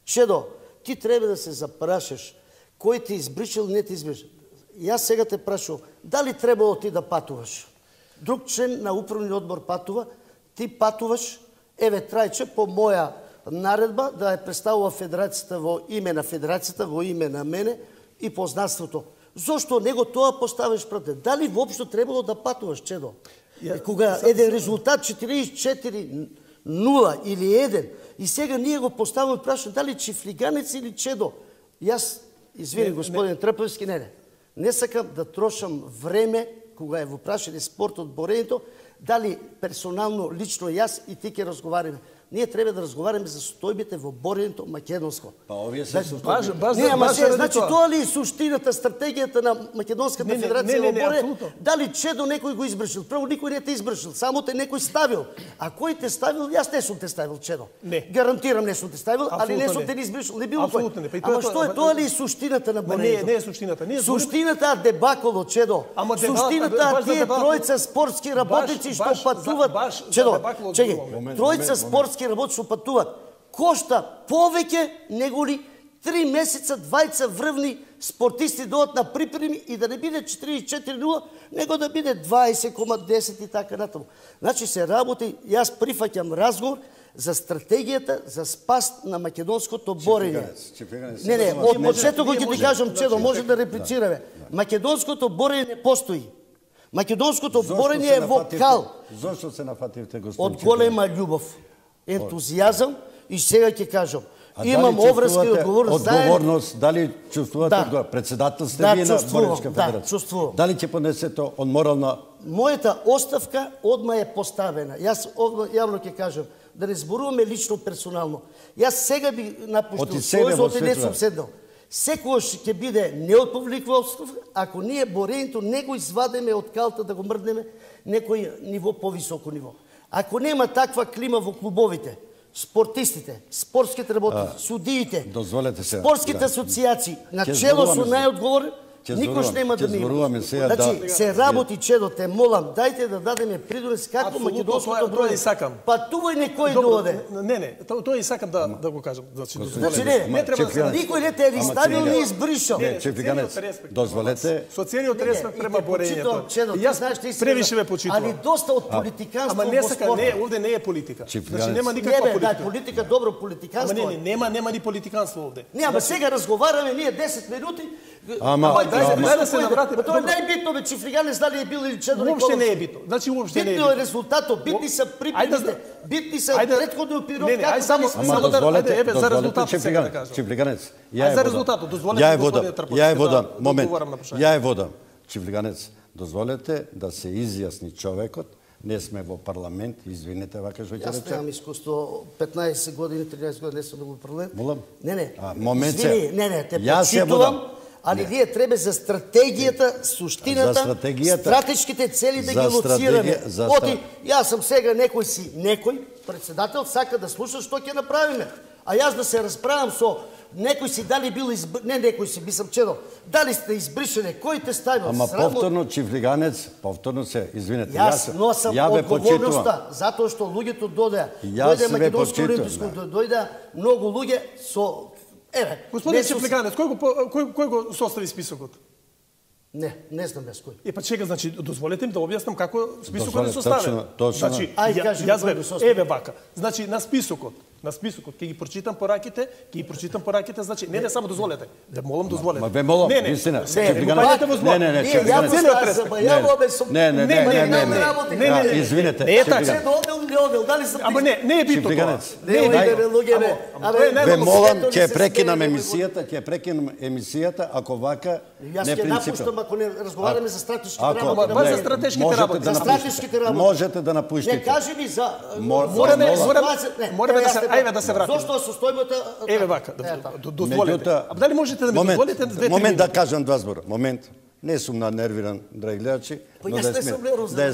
Чедо, ти треба да се запрашаш кој ти избришил, не ти избришил. Јас сега те прашувам, дали требало ти да патуваш? Друг член на управниот одбор патува, ти патуваш, еве Трајче по моја наредба да ја представува федерацијата во име на федерацијата, во име на мене и познанството. Зошто него тоа поставиш пред? Дали воопшто требало да патуваш, Чедо? Кога еден резултат 44-0 или 1 и сега ние го поставаме прашање дали чифлиганец или Чедо. Јас, извини господин Трпевски, не сакам да трошам време кога е во прашање спортот, борението, дали персонално, лично јас и ти ќе разговараме. Ние треба да разговараме за состојбите во борението македонско. Па овие се значи тоа ли е суштината, стратегијата на Македонската федерација во борение? Дали Чедо некој го избршил? Прво никој не те избршил, само те некој ставил. А кој те ставил? Јас не сум те ставил, Чедо. Не. Гарантирам не сум те ставил, али не сум те избршил, не било кој. Ама што е тоа ли е суштината на борението? Не е суштината. Суштината е дебаколо, Чедо. Суштината тие тројца спортски работници што патуват. Чедо, чекај, тројца спортски работници што патуват кошта повеќе него ли 3 месеца двајца врвни спортисти дојдат на припреми и да не биде 44-0, него да биде 20,10 и така натаму. Значи се работи, јас прифаќам разговор за стратегијата за спас на македонското борење. Не, од почетокот ќе ти кажам, Чедо, може да реплицираме. Македонското борење не постои. Македонското борење е во кал. Зошто се нафативте, господин? Од голема љубов, ентузијазам и сега ќе кажам. Имам обврска и одговорност, дали чувствувате одговорност? Председател сте вие на Боречка федерација. Да, чувствувам. Дали ќе понесете од морална... Мојата оставка одма е поставена. Јас јавно ќе кажам, да не зборуваме лично персонално. Јас сега би напуштил Сојузот и не сум седнал. Секогаш ќе биде неотповликва оставка, ако ние борењето не го извадеме од калта да го мрднеме некој ниво повисоко ниво. Ако нема таква клима во клубовите, спортистите, спортските работници, судиите, спортските асоциации, на чело со најодговорен, никош нема да ми има. Значи, се работи, Чедо, те молам, дајте да дадеме придонес како македонското броје. Патувај некој дојде. Не, тоа и сакам да го кажам. Значи не треба да никој не те ставил ни избришал. Чефлиганец, дозволете. Со целиот респект према борењето. Јас превише ве почитувам. Али доста од политиканство во спортот. Не, овде не е политика. Значи нема никаква политика. Да, политика добро, политиканство. Нема ни политиканство овде. Не, ама сега разговараме ние 10 минути. Дај да се навратиме. Тоа е најбитно, бе, Чифлиганец дали е бил или Чедо Николов. Уопште не е битно. Значи уопште не е битно. Битно е резултатот, битни се припремите, битни се претходниот период. Ајде само дозволете, еве за резултатот сега да кажам. Чифлиганец, за резултатот, дозволете ја е водам. Чифлиганец, дозволете да се изјасни човекот. Не сме во парламент, извинете, вака што ќе рече. Јас немам искуство, 15 години, 13 години не сум во парламент. Молам? Не. Момент се. Не, те почитувам. Али вие треба за стратегијата, суштината, стратешките цели да ги лоцираме. Оти, јас сум сега некој председател, сака да слуша што ќе направиме. А јас да се расправам со некој си дали бил не некој си, мислам Чедо, дали сте избришени, кој те ставил? Ама повторно Чифлиганец, повторно се, извинете, јас носам одговорноста, затоа што луѓето дојдеа. Дојде Македонско олимписко, дојде многу луѓе со Господин Чифлиганец, кој го состави списокот? Не знам јас кој. Па чека, значи, дозволете ми да објаснам како списокот е составен. Значи, еве вака. Значи, на списокот ќе ги прочитам пораките, значи, не само дозволете. Ве молам дозволете. Ма ве молам, вистина. Не, извинете. Не е така. Ама не е битно тоа. Ве молам, ќе прекинам емисијата, ако вака не принципно. Ако не разговараме за стратешките работи. За стратешките работи. За стратешките работи. Можете да напуштите. Не кажи ми за... Мораме да се вратиме. Зошто состојбата... Еве вака, дозволете. Дали можете да ми дозволите две-три минути? Момент да кажам два збора. Момент. Не сум нервиран, драги гледачи, но да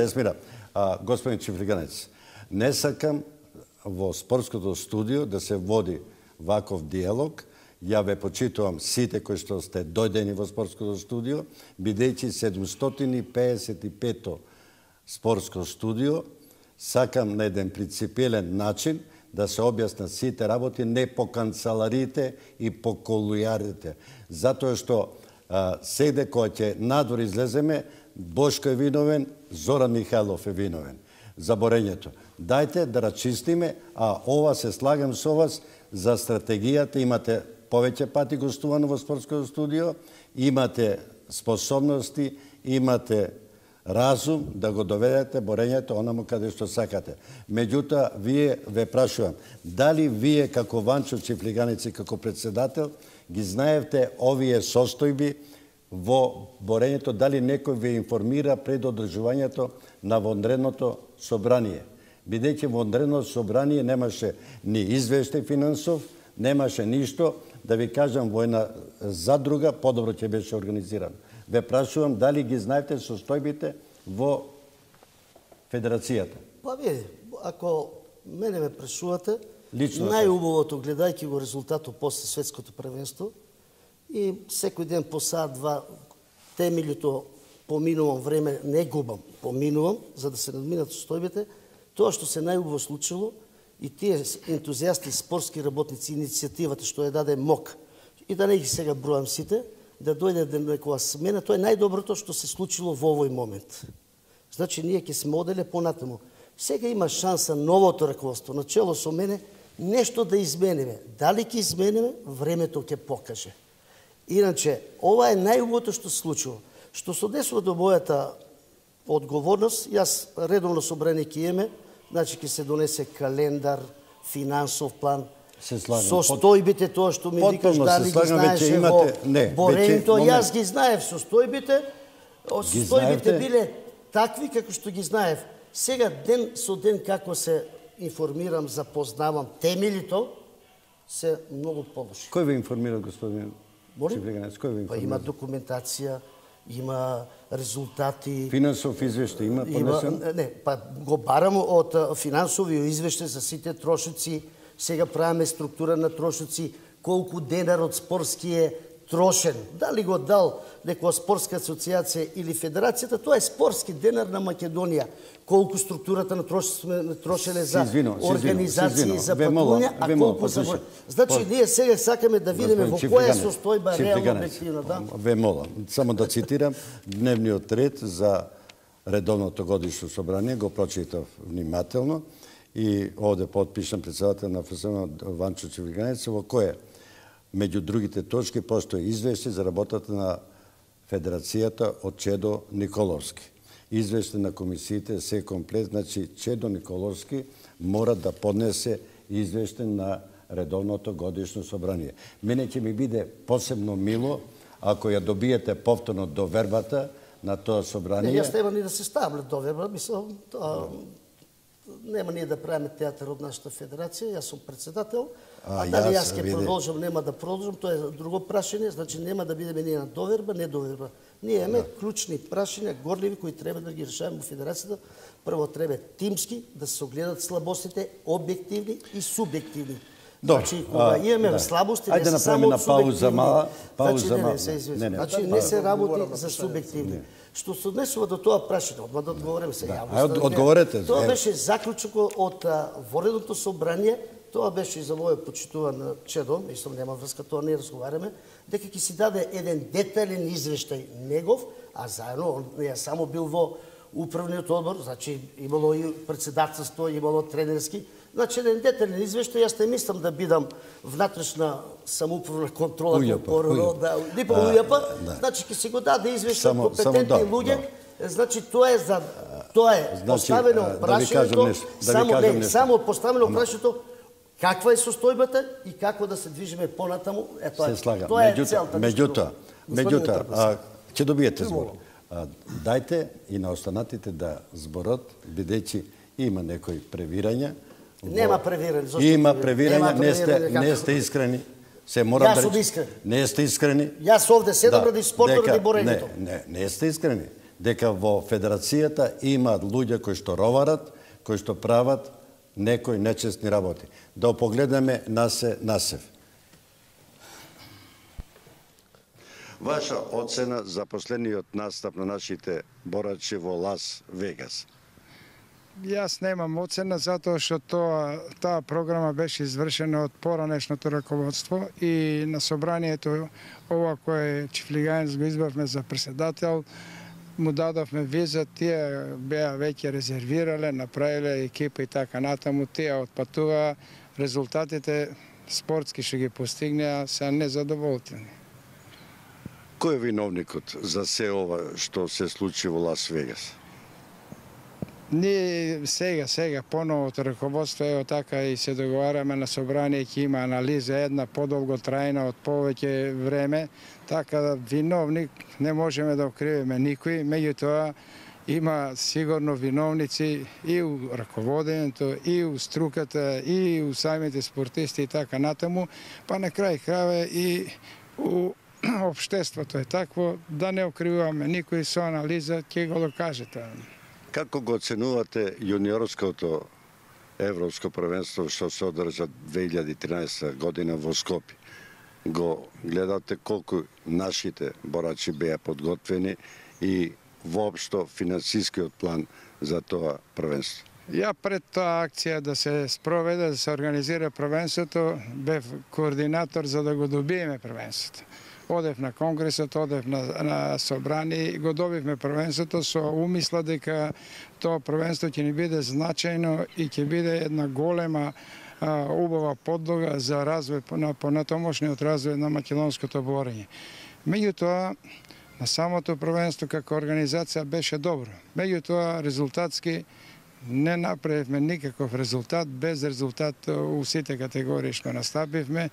е смирам. Господин Чифлиганец, не сакам во спортското студио да се води ваков диалог. Ја ве почитувам сите кои што сте дојдени во спортското студио, бидејќи 755-то спортско студио, сакам на еден принципиелен начин да се објаснат сите работи, не по канцеларите и по колујарите. Затоа што сегде кога ќе надвор излеземе, Бошко е виновен, Зоран Михајлов е виновен за борењето. Дајте да рачистиме, а ова се слагам со вас за стратегијата. Имате повеќе пати гостувано во спортското студио, имате способности, имате разум да го доведете борењето онамо каде што сакате. Меѓутоа, вие ве прашувам, дали вие како Ванчо Чифлиганец и како председател ги знаевте овие состојби во борењето, дали некој ве информира пред одржувањето на вонредното собрание? Бидејќи вонредното собрание немаше ни извештај финансов, немаше ништо, да ви кажам, во една задруга подобро ќе беше организирано. Ве прашувам дали ги знаете состојбите во Федерацијата? Па вие, ако мене ме прашувате, Лично најубавото гледајќи го резултатот после светското првенство и секој ден по саат-два темелито поминувам време, не губам, поминувам за да се надминат состојбите, тоа што се најубаво случило и тие ентузијасти, спортски работници, иницијативата што ја даде МОК, и да не ги сега бројам сите, да дојде некоја смена, тоа е најдоброто што се случило во овој момент. Значи, ние ќе сме оделе понатаму. Сега има шанса новото раководство, начело со мене, нешто да измениме. Дали ќе измениме, времето ќе покаже. Иначе, ова е најубавото што се случило. Што се однесува до мојата одговорност, јас редовно собрание ќе имаме, значи ќе се донесе календар, финансов план, состојбите, тоа што ми викаш, дали ги знаеше во борењето, јас ги знаев состојбите, состојбите биле такви како што ги знаев. Сега ден со ден како се информирам, запознавам темелито, се многу полоши. Кој ве информира, господин Чифлиганец? Кој ве информира? Па има документација, има резултати. Финансов извештај има понесен? Не, па го барам од финансови извештај за сите трошоци. Сега правиме структура на трошоци, колку денар од спортски е трошен. Дали го дал некоја спортска асоциација или федерацијата, тоа е спортски денар на Македонија. Колку структурата на трошене за организации, за патување, а колку за... Значи, ние сега сакаме да видиме во која состојба реално објективна. Ве молам, само да цитирам дневниот ред за редовното годишно собрание, го прочитав внимателно и овде подпишам председател на ФСМ Ванчо Чифлиганец, во кое меѓу другите точки постои извештај за работата на Федерацијата од Чедо Николовски. Извештај на комисиите се комплет, значи Чедо Николовски мора да поднесе извештај на редовното годишно собрание. Мене ќе ми биде посебно мило ако ја добиете повторно довербата на тоа собрание. Не, јас нема ни да се ставам доверба, мислам, нема ние да правиме театар од нашата федерација, јас сум председател, а дали јас ќе продолжам, нема да продолжам, тоа е друго прашање, значи нема да бидеме ние на доверба, не доверба. Ние имаме клучни прашања, горливи, кои треба да ги решаваме во федерацијата. Прво треба тимски да се огледат слабостите, објективни и субјективни. Значи, кога имаме слабости, не се само од субјективни. Значи, не се работи за субјективни. Што се однесува до тоа прашање, одма да одговориме сега. Одговорете. Тоа беше заклучок од воредното собрание, тоа беше и за мојот почитуван Чедо, мислам нема врска, тоа не разговараме, дека ќе си даде еден детален извештај негов, а заедно, не само бил во управниот одбор, значи имало и председателство, имало тренерски, значи еден детален извештај, јас не мислам да бидам внатрешна самоуправна контрола, не по УЈП, значи ќе си го даде извештај компетентни луѓе, значи тоа е поставено прашањето, само поставено прашањето каква е состојбата и како да се движиме понатаму, тоа е целта. Меѓутоа, ќе добиете збор. Дајте и на останатите да зборат, бидејќи има некои превирања. Нема превирање. Има превирање, не сте искрени. Јас сум искрен. Не сте искрени. Јас овде седам ради спортот, ради борењето. Не сте искрени. Дека во Федерацијата има луѓе кои што роварат, кои што прават некои нечестни работи. Да погледнеме насев. Ваша оцена за последниот настап на нашите борачи во Лас Вегас? Јас немам оцена затоа што таа програма беше извршена од поранешното раководство и на собранието ова кое Чифлиганец го избавме за председател, му дадовме виза, тие беа веќе резервирале, направиле екипа и така натаму, тие отпатуваа, резултатите спортски што ги постигнеа се незадоволтени. Кој е виновникот за се ова што се случи во Лас Вегас? Ние сега, поновото раководство, ево така и се договараме на собрание, ќе има анализа една подолго трајна од повеќе време, така да виновник не можеме да окривиме никој, меѓутоа има сигурно виновници и у раководењето, и у струката, и у самите спортисти и така натаму, па на крај крајава и у општеството е такво, да не окривуваме никој, со анализа ќе го докажете. Како го оценувате јуниорското европско првенство што се одржа 2013 година во Скопје? Го гледате колку нашите борачи беа подготвени и воопшто финансискиот план за тоа првенство? Ја пред таа акција да се спроведе, да се организира првенството, бев координатор за да го добиеме првенството. Одев на конгресот, одев на собрание и го добивме првенството со умисла дека тоа првенство ќе ни биде значајно и ќе биде една голема убава подлога за развој на понатомошниот развој на македонското борење. Меѓутоа, на самото првенство како организација беше добро. Меѓутоа, резултатски не направивме никаков резултат, без резултат у сите категории што настапивме.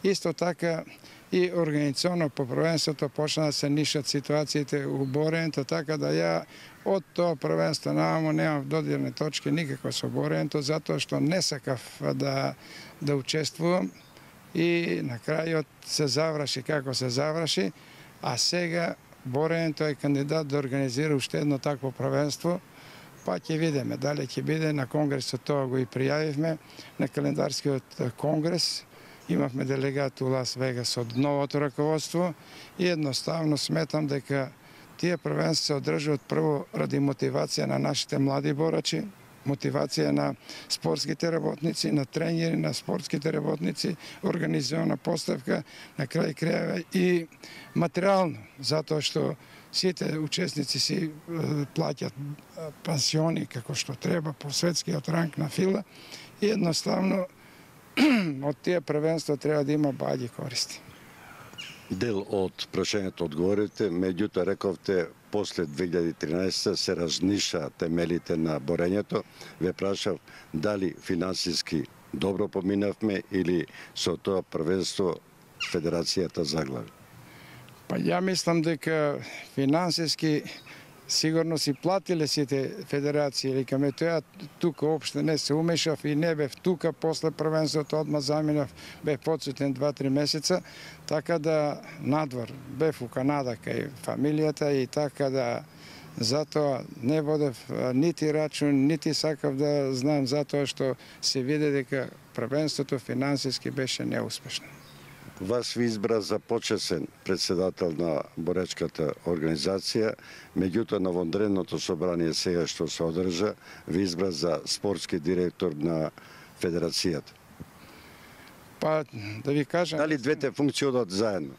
Исто така и организационно по првенството почна да се нишат ситуациите у борењето, така да ја од тоа првенство немам додирни точки никако со борењето, затоа што не сакав да учествувам и на крајот се заврши како се заврши, а сега борењето е кандидат да организира уште едно такво првенство, па ќе видиме дали ќе биде на конгресот, тоа го и пријавивме на календарскиот конгрес. Имавме делегат у Лас Вегас од новото раководство и едноставно сметам дека тие првенства се одржуваат прво ради мотивација на нашите млади борачи, мотивација на спортските работници, на тренери, на спортските работници, организована поставка, на крај крајава и материјално, затоа што сите учесници си плаќат пансиони како што треба по светскиот ранг на фила и едноставно од тие првенства треба да има баји користи. Дел од прашањето одговорите, меѓутоа рековте после 2013 се разниша темелите на борењето. Ве прашав дали финансиски добро поминавме или со тоа првенство федерацијата заглави? Па ја мислам дека финансиски сигурно си платиле сите федерации, или каме тоа тука опште не се умешав и не бев тука, после првенството одма заминав, бев подсутен 2-3 месеца, така да надвор, бев у Канада кај фамилијата и така да затоа не водев нити рачун, нити сакав да знам, затоа што се виде дека првенството финансиски беше неуспешно. Вас ви избра за почесен председател на боречката организација, меѓутоа на вонредното собрание сега што се одржа, ви избра за спортски директор на федерацијата. Па, да ви кажам... Дали двете функции одат заедно?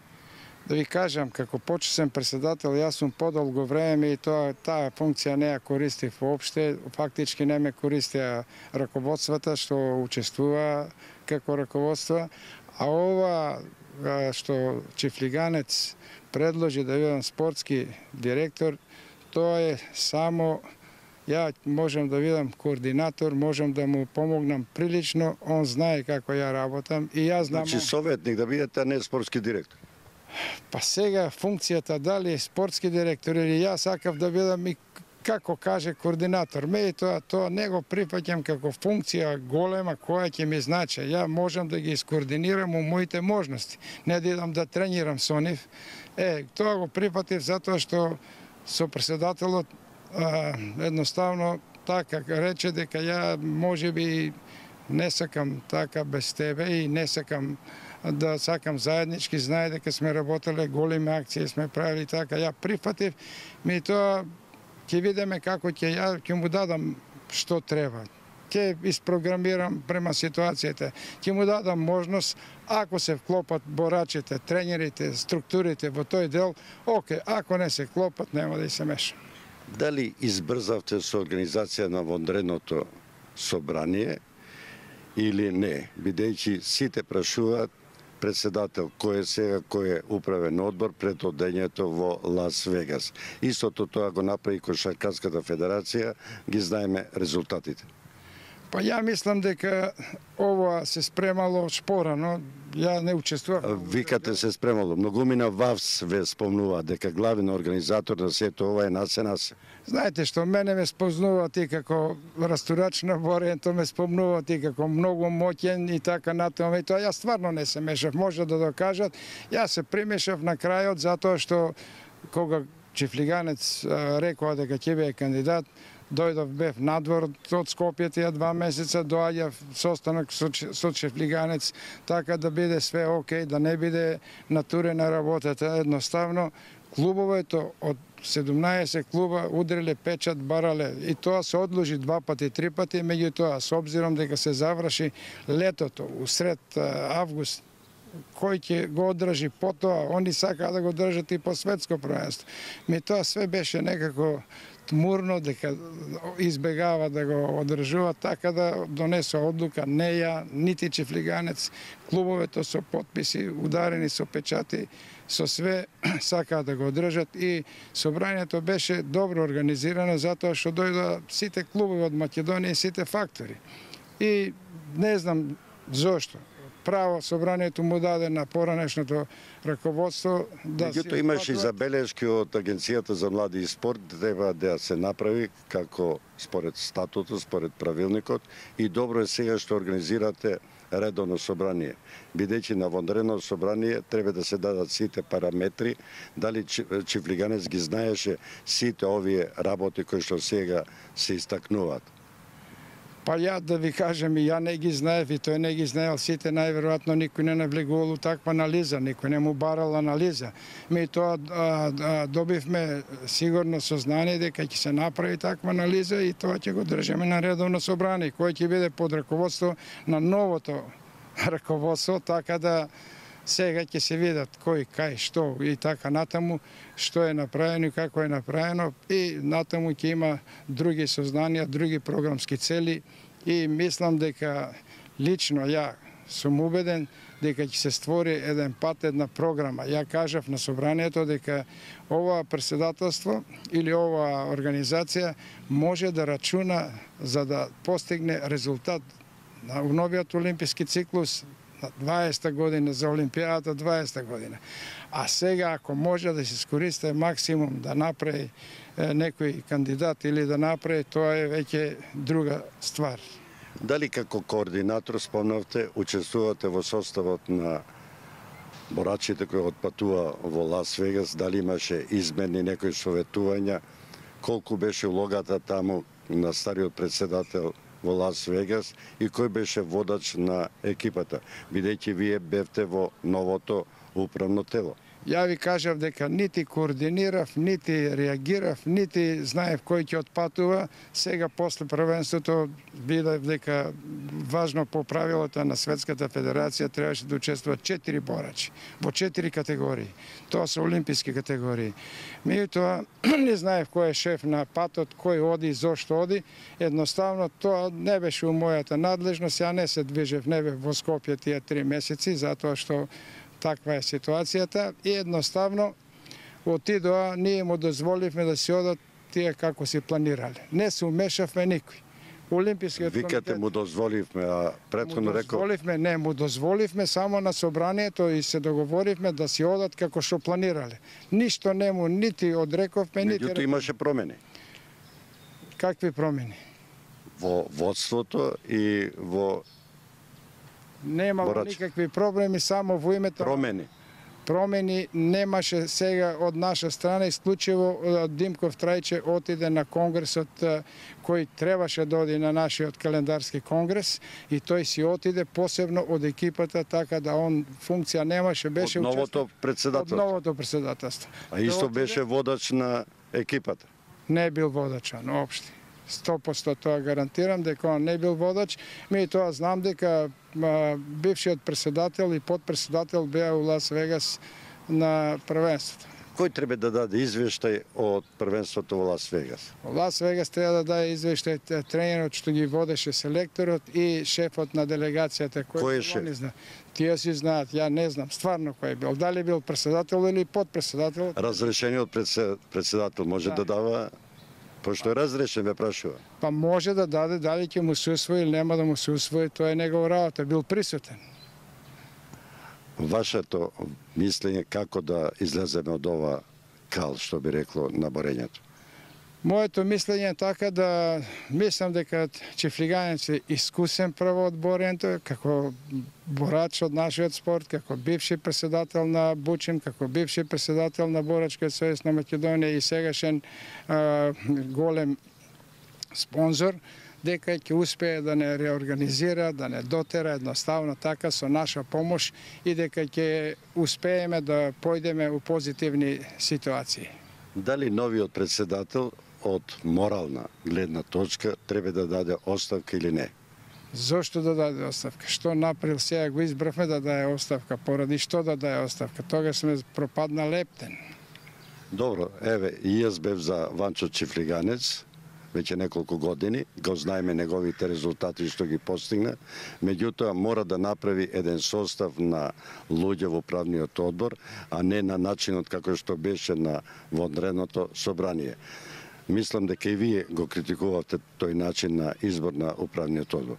Да ви кажам, како почесен председател, јас сум подолго време и таа функција не ја користив воопште, фактички не ме користија раководствата што учествува како раководство, а ова што Чифлиганец предложи да бидам спортски директор, тоа е само ја можам да бидам координатор, можам да му помогнам прилично, он знае како ја работам и јас знам... Значи советник да бидете, а не спортски директор? Па сега функцијата дали е спортски директор или јас сакав да бидам и како каже координатор. Тоа не го прифаќам како функција голема која ќе ми значи. Ја можам да ги искоординирам у моите можности. Не да идам да тренирам со нив. Тоа го прифатив затоа што со председателот едноставно така рече дека ја можеби не сакам така без тебе и не сакам да сакам заеднички, знае дека сме работеле големи акции, сме правили така, ја прифатив, тоа ќе видиме како ќе му дадам што треба. Ќе isprogramирам према ситуацијата. Ќе му дадам можност, ако се вклопат борачите, тренерите, структурите во тој дел, оке, ако не се вклопат, нема да и се мешам. Дали избрзавте со организација на вонредното собрание или не, бидејќи сите прашуваат председател кој е сега, кој е управен одбор пред одењето во Лас Вегас. Истото тоа го направи Кошаркарската федерација, ги знаеме резултатите. Па ја мислам дека ова се спремало спорано, ја не учествував. Викате се спремало, многумина ВАВС ве спомнува дека главен организатор на сето ова е Насе. Знаете што, мене ме спознува ти како растурач на Боренто, ме спомнува ти како многу моќен и така натаму. И тоа ја стварно не се мешав, може да докажат. Ја се примешав на крајот затоа што кога Чифлиганец рекоа дека ќе биде кандидат, дојдов, бев надвор од Скопје тие 2 месеца, доаѓав состанок со Чифлиганец, така да биде све окей, да не биде натурена работата. Едноставно, клубовето од 17 клуба удриле печат, барале и тоа се одложи 2 пати, 3 пати, меѓутоа, со обзиром дека се заврши летото, усред август, кој ќе го одржи потоа, они сакаа да го држат и по светско првенство. Тоа све беше некако тмурно, дека избегава да го одржува, така да донесо одлука не ја, нити Чифлиганец, клубовето со потписи, ударени со печати, со све сакаа да го одржат и собранието беше добро организирано затоа што дојдоа сите клубови од Македонија и сите фактори. И не знам зошто. Право собранието му даде на поранешното раководство да си... Меѓутоа имаше и забелешки од Агенцијата за млади и спорт, треба да се направи како според статутот, според правилникот и добро е сега што организирате редовно собрание. Бидејќи на вонредно собрание треба да се дадат сите параметри, дали Чифлиганец ги знаеше сите овие работи кои што сега се истакнуваат. Па ја да ви кажем, и ја не ги знаев, и тој не ги знаел сите, најверојатно никој не навлегувал у таква анализа, никој не му барал анализа. Ми тоа добивме сигурно сознание дека ќе се направи таква анализа и тоа ќе го држиме на редовно собрание, кој ќе биде под раководство на новото раководство, така да сега ќе се видат кој, кај, што и така натаму, што е направено и како е направено и натаму ќе има други сознанија, други програмски цели и мислам дека лично ја сум убеден дека ќе се створи еден пат, една програма. Ја кажав на собранието дека ова председателство или ова организација може да рачуна за да постигне резултат на новиот олимписки циклус 20-та година, за Олимпијадата 20-та година. А сега, ако може да се искористи максимум да направи некој кандидат или да направи, тоа е веќе друга ствар. Дали како координатор, спомнавте, учествувате во составот на борачите кои отпатува во Лас Вегас, дали имаше измени некои советувања, колку беше улогата таму на стариот председател во Лас Вегас и кој беше водач на екипата, бидејќи вие бевте во новото управно тело? Ја ви кажав дека нити координирав, нити реагирав, нити знаев кој ќе отпатува. Сега после првенството видев дека важно по правилата на Светската федерација требаше да учествуваат 4 борачи во 4 категории. Тоа се олимписки категории. Меѓутоа не знаев кој е шеф на патот, кој оди и зошто оди. Едноставно тоа не беше у мојата надлежност. Ја не се движев, не бев во Скопје тие 3 месеци, затоа што таква е ситуацијата и едноставно отидоа, ние му дозволивме да си одат тие како си планирале. Не се умешавме никој. Олимпискиот комитет... Викате му дозволивме, а претходно рекол... Не, му дозволивме само на собранието и се договоривме да си одат како што планирале. Ништо не му нити одрековме, нити... Меѓутоа имаше промени. Какви промени? Во водството и во... Немало никакви проблеми, само во името... Промени. промени немаше сега од наша страна, исклучиво Димков Трајче отиде на конгресот кој требаше да оди на нашиот календарски конгрес и тој си отиде посебно од екипата, така да он функција немаше, беше од новото председателство. Од новото председателство. А исто беше водач на екипата. Не бил водачан, општи. 100% тоа гарантирам дека он не бил водач. Ми тоа знам дека бившиот председател и подпредседател беа у Лас Вегас на првенството. Кој треба да даде извештај од првенството во Лас Вегас? Во Лас Вегас треба да даде извештај тренерот што ги водеше селекторот и шефот на делегацијата. Кој е шеф? Тие си знаат, ја не знам стварно кој бил. Дали бил председател или подпредседател? Разрешениот председател може да дава, пошто е разрешен, ве прашува. Па може да даде, дали ќе му се усвои или нема да му се усвои, тоа е негова работа, бил присутен. Вашето мислење како да излеземе од ова кал, што би рекло, на борењето? Моето мислење е така да мислам дека Чифлиганец е искусен прво од борењето, како борач од нашиот спорт, како бивши председател на Бучим, како бивши председател на Борачкиот сојуз на Македонија и сегашен голем спонзор, дека ќе успее да не реорганизира, да не дотера едноставно така со наша помош и дека ќе успееме да појдеме у позитивни ситуации. Дали новиот председател од морална гледна точка треба да даде оставка или не? Зошто да даде оставка? Што направил сега го избравме да даде оставка? Поради што да даде оставка? Тогаш сме пропадна лептен. Добро, еве, и јас бев за Ванчо Чифлиганец, веќе неколку години, го знаеме неговите резултати што ги постигна, меѓутоа мора да направи еден состав на луѓе во управниот одбор, а не на начинот како што беше на вонредното собрание. Мислам дека и вие го критикувавте тој начин на избор на управниот одбор.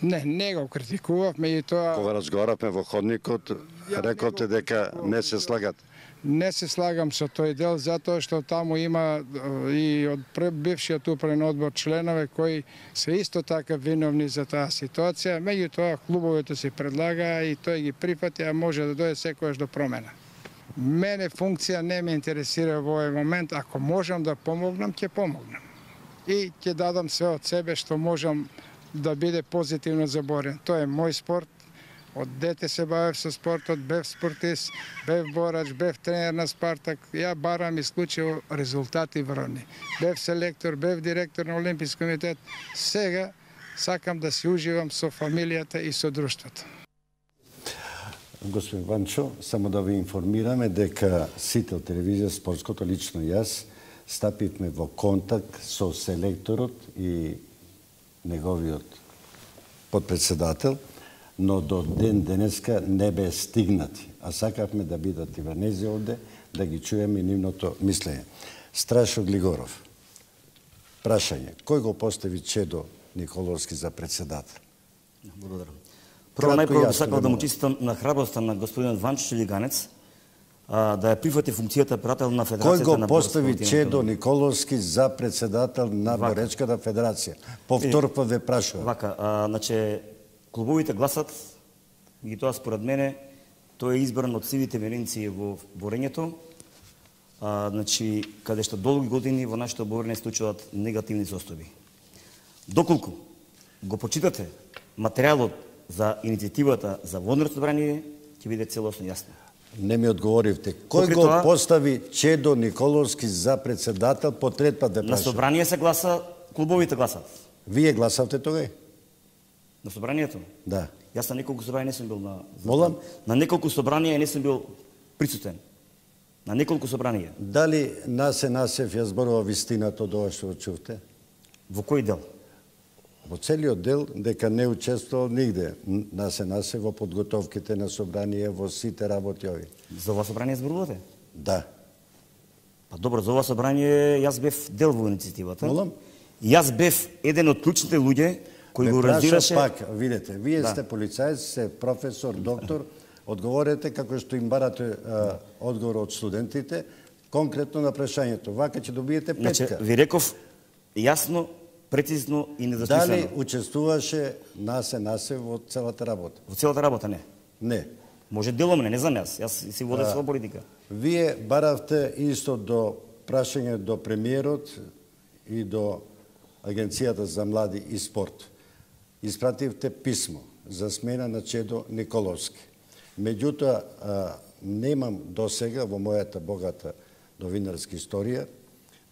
Не го критикував, меѓутоа Кога разговаравме во ходникот, рековте дека не се слагате. Не се слагам со тој дел, затоа што таму има и од бившиот управен одбор членове кои се исто така виновни за таа ситуација, меѓутоа клубовето се предлага и тој ги прифати, а може да дојде секојаш до промена. Мене функција не ме интересира во овој момент, ако можам да помогнам, ќе помогнам. И ќе дадам све од себе што можам да биде позитивно за борење. Тоа е мој спорт. Од дете се бавев со спортот, бев спортист, бев борач, бев тренер на Спартак. Ја барам исклучиво резултати врвни. Бев селектор, бев директор на Олимписки комитет. Сега сакам да се уживам со фамилијата и со друштвото. Господин Ванчо, само да ви информираме дека Сител телевизија спортското, лично јас, стапивме во контакт со селекторот и неговиот подпредседател, но до ден денеска не бе стигнати. А сакавме да бидат и врнези овде, да ги чуеме нивното мислење. Страшо Глигоров, прашање, кој го постави Чедо Николовски за председател? Благодарам. Прво најпрво би сакал да му честитам на храброста на господинот Ванчо Чифлиганец да ја прифати функцијата прател на Федерацијата Кој на го постави Чедо Николовски за председател на Боречката федерација? Повторно ве прашувам. Вака, значи клубовите гласат и тоа според мене тој е избран од сивите веренци во борењето. Значи каде што долги години во нашето борење случуваат негативни состојби. Доколку го почитате материјалот за иницијативата за вонредно собрание, ќе биде целосно јасно. Не ми одговоривте. Кој го постави Чедо Николовски за председател по трет пат ве прашувам? На собрание се гласа, клубовите гласат. Вие гласавте тогај? На собранието? Да. Јас на неколку собрания не сум бил Молам? На неколку собрания не сум бил присутен. На неколку собрания. Дали Насе Насев ја зборува вистината од ова што чувте? Во кој дел? Во целиот дел дека не учествувал нигде. Насе Насев во подготовките на собрание, во сите работи ови. За ова собрание зборувате? Да. Па добро, за ова собрание јас бев дел во иницијативата. Молам? Јас бев еден од клучните луѓе кој го организираше. Пак, видете, вие сте полицаец, сте професор, доктор, одговорете како што им барате одговор од студентите, конкретно на прашањето. Вака ќе добиете петка. Значи, ви реков јасно, прецизно и недвосмислено. Дали учествуваше Насе Насев во целата работа? Во целата работа не. Не. Може деломне, не знам јас. Јас си водев своја политика. Вие баравте исто до прашање до премиерот и до Агенцијата за млади и спорт. Испративте писмо за смена на Чедо Николовски. Меѓутоа, немам досега во мојата богата новинарска историја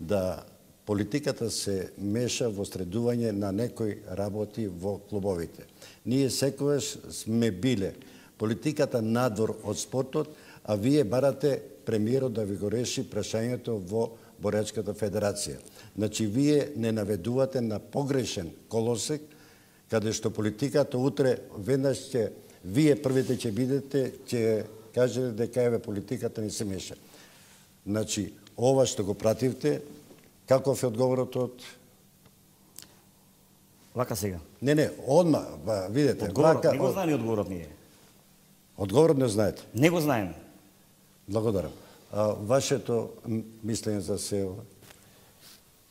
да политиката се меша во средување на некои работи во клубовите. Ние секогаш сме биле политиката надвор од спортот, а вие барате премиерот да ви го реши прашањето во Боречката федерација. Значи, вие не наведувате на погрешен колосек, каде што политиката утре веднаш ќе, вие првите ќе бидете, ќе кажете дека еве политиката не се меша. Значи, ова што го пративте, каков е одговорот од... Вака сега. Не, одма, видете. Одговорот, не го знаеме одговорот ние. Одговорот не знаете? Не го знаеме. Благодарам. Вашето мислење за се ова?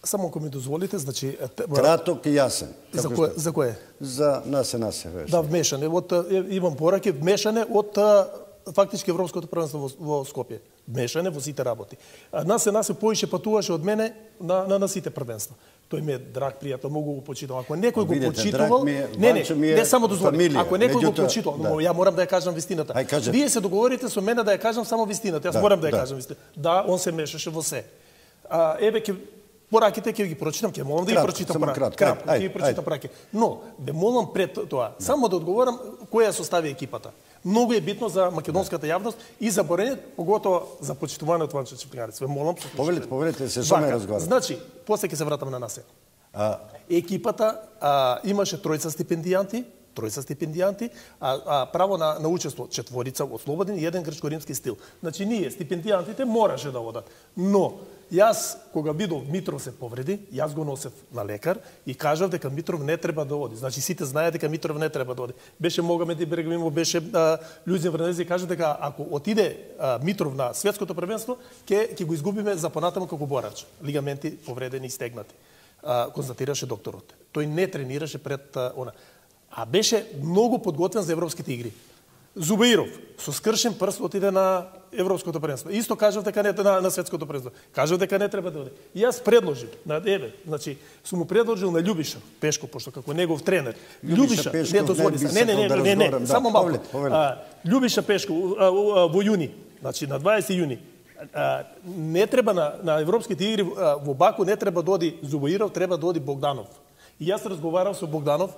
Само ако ми дозволите, значи... Краток и јасен. За кое? За насе. Да, вмешане. Имам пораки, вмешане од фактички Европското првенство во Скопје. Вмешане во сите работи. Насе поише патуваше од мене на сите првенства. Тој ми е драг пријател, многу го почитувам. Ако некој го почитувал, не само дозволи. Ако некој го почитувал, но ја морам да ја кажам вистината. Вие се договорите со мене да ја кажам само вистината. Јас морам да ја кажам вистината. Да, он се мешаше во се. Еве пораките ќе ги прочитам, ќе молам да ги прочитам кратко, ќе ги прочитам пораки. Но ве молам пред тоа само да одговорам која состави екипата. Многу е битно за македонската јавност и за борењето, поготово за почитувањето Ванчо Чепкарец. Ве молам. Повелете се, со ме разговарате. Значи, после ќе се вратам на насе. Екипата имаше тројца стипендијанти, а право на учество четворица од слободен и еден грчко-римски стил. Значи ние стипендијантите мораше да одат. Но јас кога видов Митров се повреди, јас го носев на лекар и кажав дека Митров не треба да оди. Значи сите знаеат дека Митров не треба да оди. Беше Могамед Ибрагимов, беше Лјузин Врнези, кажа дека ако отиде Митров на светското првенство, ќе го изгубиме за понатаму како борач. Лигаменти повредени и стегнати. Констатираше докторот. Тој не тренираше пред она. А беше многу подготвен за европските игри. Зубаиров со скршен прст отиде на европското првенство. Исто кажав дека не на светското првенство. Кажав дека не треба да оди. И јас предложив значи сум му предложил на Љубиша Пешко, пошто како негов тренер. Љубиша не дозволи се. Не, само малку. Љубиша Пешко во јуни, значи на 20 јуни. Не треба на европските игри во Баку не треба да оди Зубаиров, треба да оди Богданов. И јас разговарав со Богданов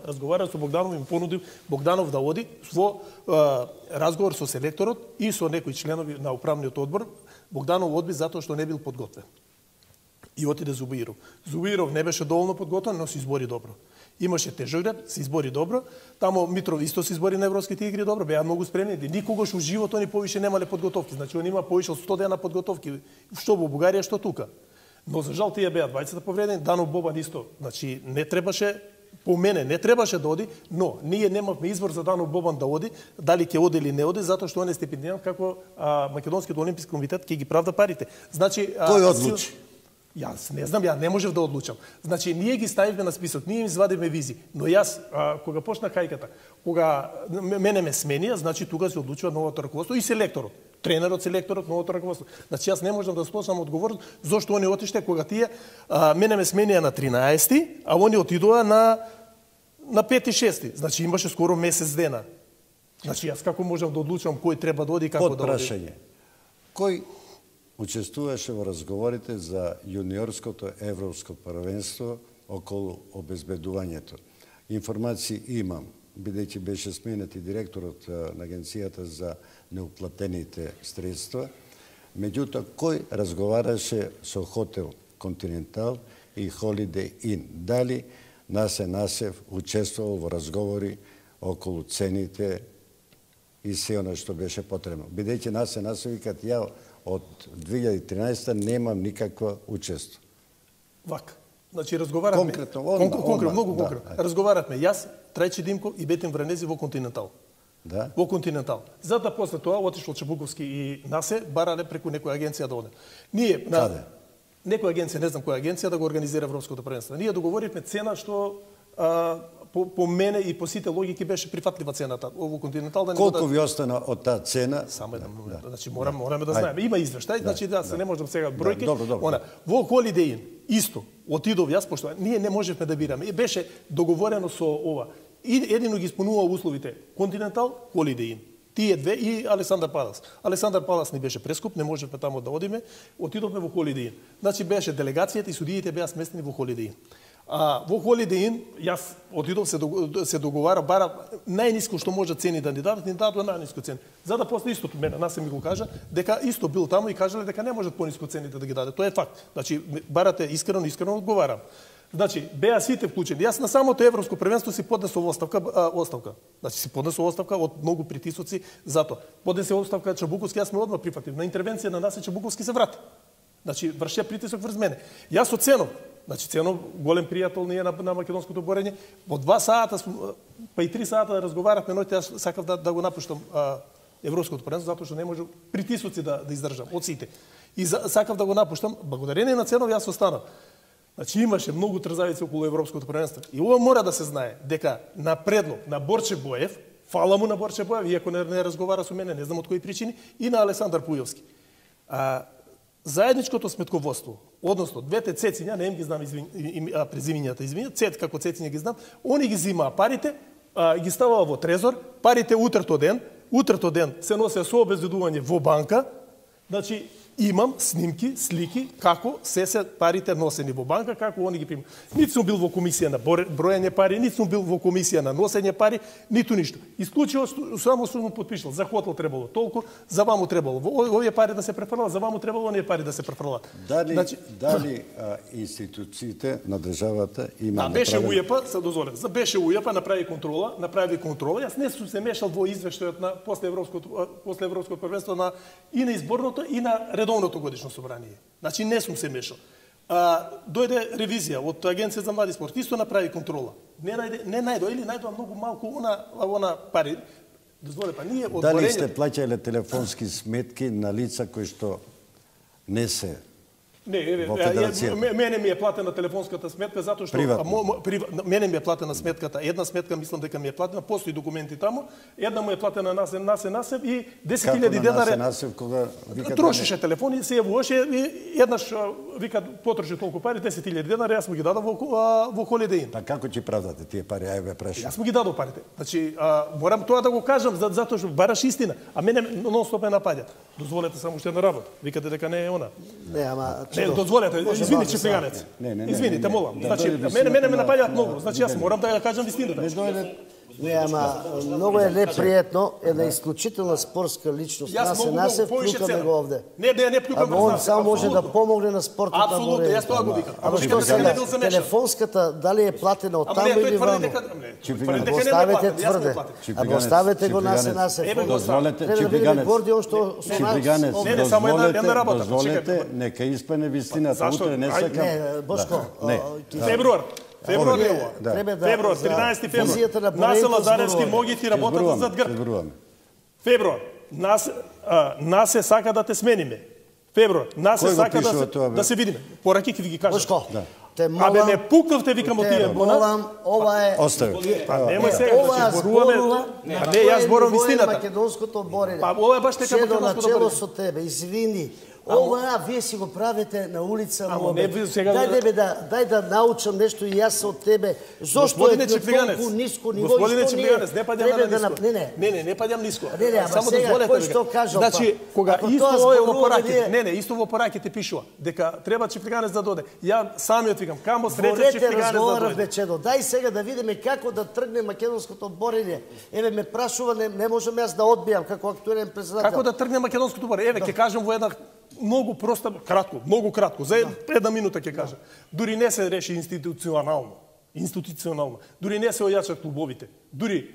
и му понудив Богданов да оди во разговор со селекторот и со некои членови на управниот одбор. Богданов одби затоа што не бил подготвен. И отиде Зубаиров. Зубаиров не беше доволно подготвен, но се избори добро. Имаше тежогреб, се избори добро. Тамо Митров исто се избори на европските игри добро, беа многу спремни. Никогаш во живот они повише немале подготовки. Значи он има повише од 100 дена подготовки, што во Бугарија, што тука. Но за жал тие беа двајцата повредени, Данов Бобан исто. Значи не требаше, по мене не требаше да оди, но ние немавме избор за Данов Бобан да оди, дали ќе оди или не оди, затоа што он е стипендијант како Македонскиот олимписки комитет ќе ги правда парите. Значи кој одлучи? Јас не знам, ја не можев да одлучам. Значи ние ги ставивме на список, ние им извадивме визи, но јас кога почна кајката, кога мене ме сменија, значи тука се одлучува новото раководство и селекторот. Тренерот, селекторот, новото раководство. Значи јас не можам да сносам одговорност зошто они отиште кога тие мене ме сменија на 13-ти, а они отидоа на 5-6. Значи имаше скоро месец дена. Значи јас како можам да одлучам кој треба да оди и како да оди? Подпрашање. Кој учествуваше во разговорите за јуниорското европско првенство околу обезбедувањето? Информации имам, бидејќи беше сменет и директорот на Агенцијата за неуплатените средства. Меѓутоа, кој разговараше со Хотел Континентал и Холидей Ин? Дали Насе Насев учествувал во разговори околу цените и се она што беше потребно? Бидејќи Насе Насев викат ја од 2013 немам никаква учество. Вака. Значи разговаравме конкретно, многу конкретно. Разговаравме јас, Трајче Димков и Бетин Вранези во Континентал. Да. Во Континентал. Затоа после тоа отишол Чебуковски и Насе барале преку некоја агенција да оде. Ние Каде? Некоја агенција, не знам која агенција да го организира европското првенство. Ние договоривме цена што по мене и по сите логики беше прифатлива цената. Ово Континентал да не Колку ви остана од таа цена? Само еден момент. Значи мораме да знаеме. Има извештај, значи да се не можам сега бројки. Добро. Во Holiday Inn исто отидов јас пошто ние не можевме да бираме. Беше договорено со ова. И едино ги исполнува условите Континентал, Holiday Inn. Тие две и Александар Палас. Александар Палас ни беше прескуп, не можевме таму да одиме, отидовме во Holiday Inn. Значи беше делегацијата и судиите беа сместени во Holiday Inn. Во Holiday Inn јас отидов се договара бара најниско што може цени да ни дадат најниско цени. За да после истото мене нас ми го кажа дека исто бил таму и кажале дека не можат пониско цените да ги даде. Тоа е факт. Значи барате искрено одговарам. Значи, беа сите вклучени. Јас на самото европско првенство си поднесов оставка. Значи си поднесов оставка од многу притисоци за тоа. Поднесе оставка Чабуковски, јас ме одма прифатив. На интервенција на нас Чабуковски се врати. Значи врше притисок врз мене. Јас оценов. Значи Ценов голем пријател ние на македонското борење. Во 2 сата па и 3 сата разговаравме, ноќе јас сакав да го напуштам европското првенство затоа што не може притисоци да издржам од сите. И сакав да го напуштам, благодарение на Ценов јас останав. Значи имаше многу трзавици околу европското првенство. И ова мора да се знае дека на предлог на Борче Боев, фала му на Борче Боев, иако не разговара со мене, не знам од кои причини, и на Александар Пујовски. Заедничкото сметководство, односно двете цециња, не им ги знам презимињата, цет како цециња ги знам, они ги зимаа парите, ги ставаа во трезор, парите утрето ден се носеа со обезбедување во банка, значи имам снимки, слики, како се парите носени во банка, како они ги примат. Ниту сум бил во комисија на броење пари, ниту сум бил во комисија на носење пари, ниту ништо. Исклучиво само сум подпишал. За хотел требало толку, за ваму требало овие пари да се префрлат, за ваму требало оние пари да се префрлат. Дали институциите на државата има беше УЈП, се дозволев. Беше УЈП направи контрола. Јас не сум се мешал во извештајот на после европското првенство и на изборното и на редовното годишно собрание. Значи не сум се мешал. Дојде ревизија од Агенција за млади спорт, исто направи контрола. Не најдоа или најдоа многу малку она пари. Дозволе па ние од Дали сте плаќале телефонски сметки на лица кои што не се во федерацијата? Мене ми е платена телефонската сметка затоа што мене ми е платена сметката. Една сметка мислам дека ми е платена, постои документи таму. Една му е платена Насев и 10.000 денари. Како Насев кога вика трошеше телефони, се јавуваше и еднаш вика потроши толку пари, 10.000 денари, јас му ги дадов во Holiday Inn. Па како ќе правдате тие пари? Ајде прашај. Јас му ги дадов парите. Значи морам тоа да го кажам затоа што бараш истина, а мене нон-стоп ме напаѓаат. Дозволете само уште една работа. Викате дека не е она. Не, ама не, дозволете, извини Чифлиганец. Извините, молам. Значи, мене ме напаѓаат многу. Значи, јас морам да ја кажам вистината. Не, ама многу е непријатно, една исклучителна спортска личност. Насев, плюкаме го овде. Не плюкаме го. Он само може да помогне на спортот на борење. Апсолутно, јас тоа го викам. Ама што сега, телефонската, дали е платена од таму или ваму? Оставете тврде. Ама оставете го Насев. Дозволете, дозволете, нека испане вистината. Утре не сакам. Не, Бошко. Февруар, 13 февруар. Насе Лазаревски могите работат зад грб. Февруар. Насе сака да те смениме. Февруар. Насе сака да се видиме. Пораки ќе ви ги кажам. Бошко. Абе ме пукнавте, викам од тие. Молам, ова е... Остави. Немој сега, значи зборуваме... Не, јас зборувам вистината. Македонското борење. Па ова е баш така македонското борење. Со тебе, извини. Ова вие си го правите на улица Муамед. Дај да научам нешто и јас од тебе. Зошто е толку ниско ниво и што ние треба да направиме? Не паѓам ниско. Само дозволете да кажам. Значи, кога исто е во пораките, исто во пораките пишува дека треба Чифлиганец да доде. Ја самиот викам, камо среќа Чифлиганец да доде. Дај сега да видиме како да тргне македонското борење. Еве ме прашува, не можам јас да одбијам како актуелен председател. Како да тргне македонското борење? Еве ќе кажам во една многу проста, многу кратко, за една минута ќе кажам. Дури не се реши институционално. Дури не се ојачат клубовите. Дури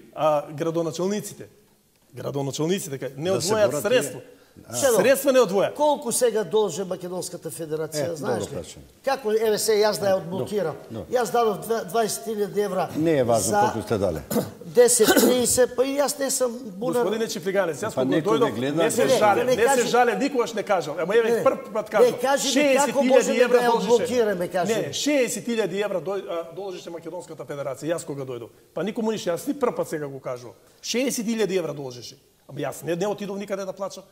градоначалниците не одвојат средство Средства не одвоја. Колку сега должи Македонската федерација, знаеш ли? Како, еве се, јас да ја одблокирам. Јас дадов 20.000 евра. Не е важно колку сте дали. 10-30, па и јас не сум бунар. Господине Чифлиганец, јас кога некој дојдов, гледа, не се жале, никогаш не кажам. Ама еве прв пат кажам. Не, кажи ми како можеме да ја одблокираме, кажи. Не, 60.000 евра должеше Македонската федерација, јас кога дојдов. Па никому ништо, јас ни прв пат сега го кажувам. 60.000 евра должеше. Ама јас не отидов никаде да плачам.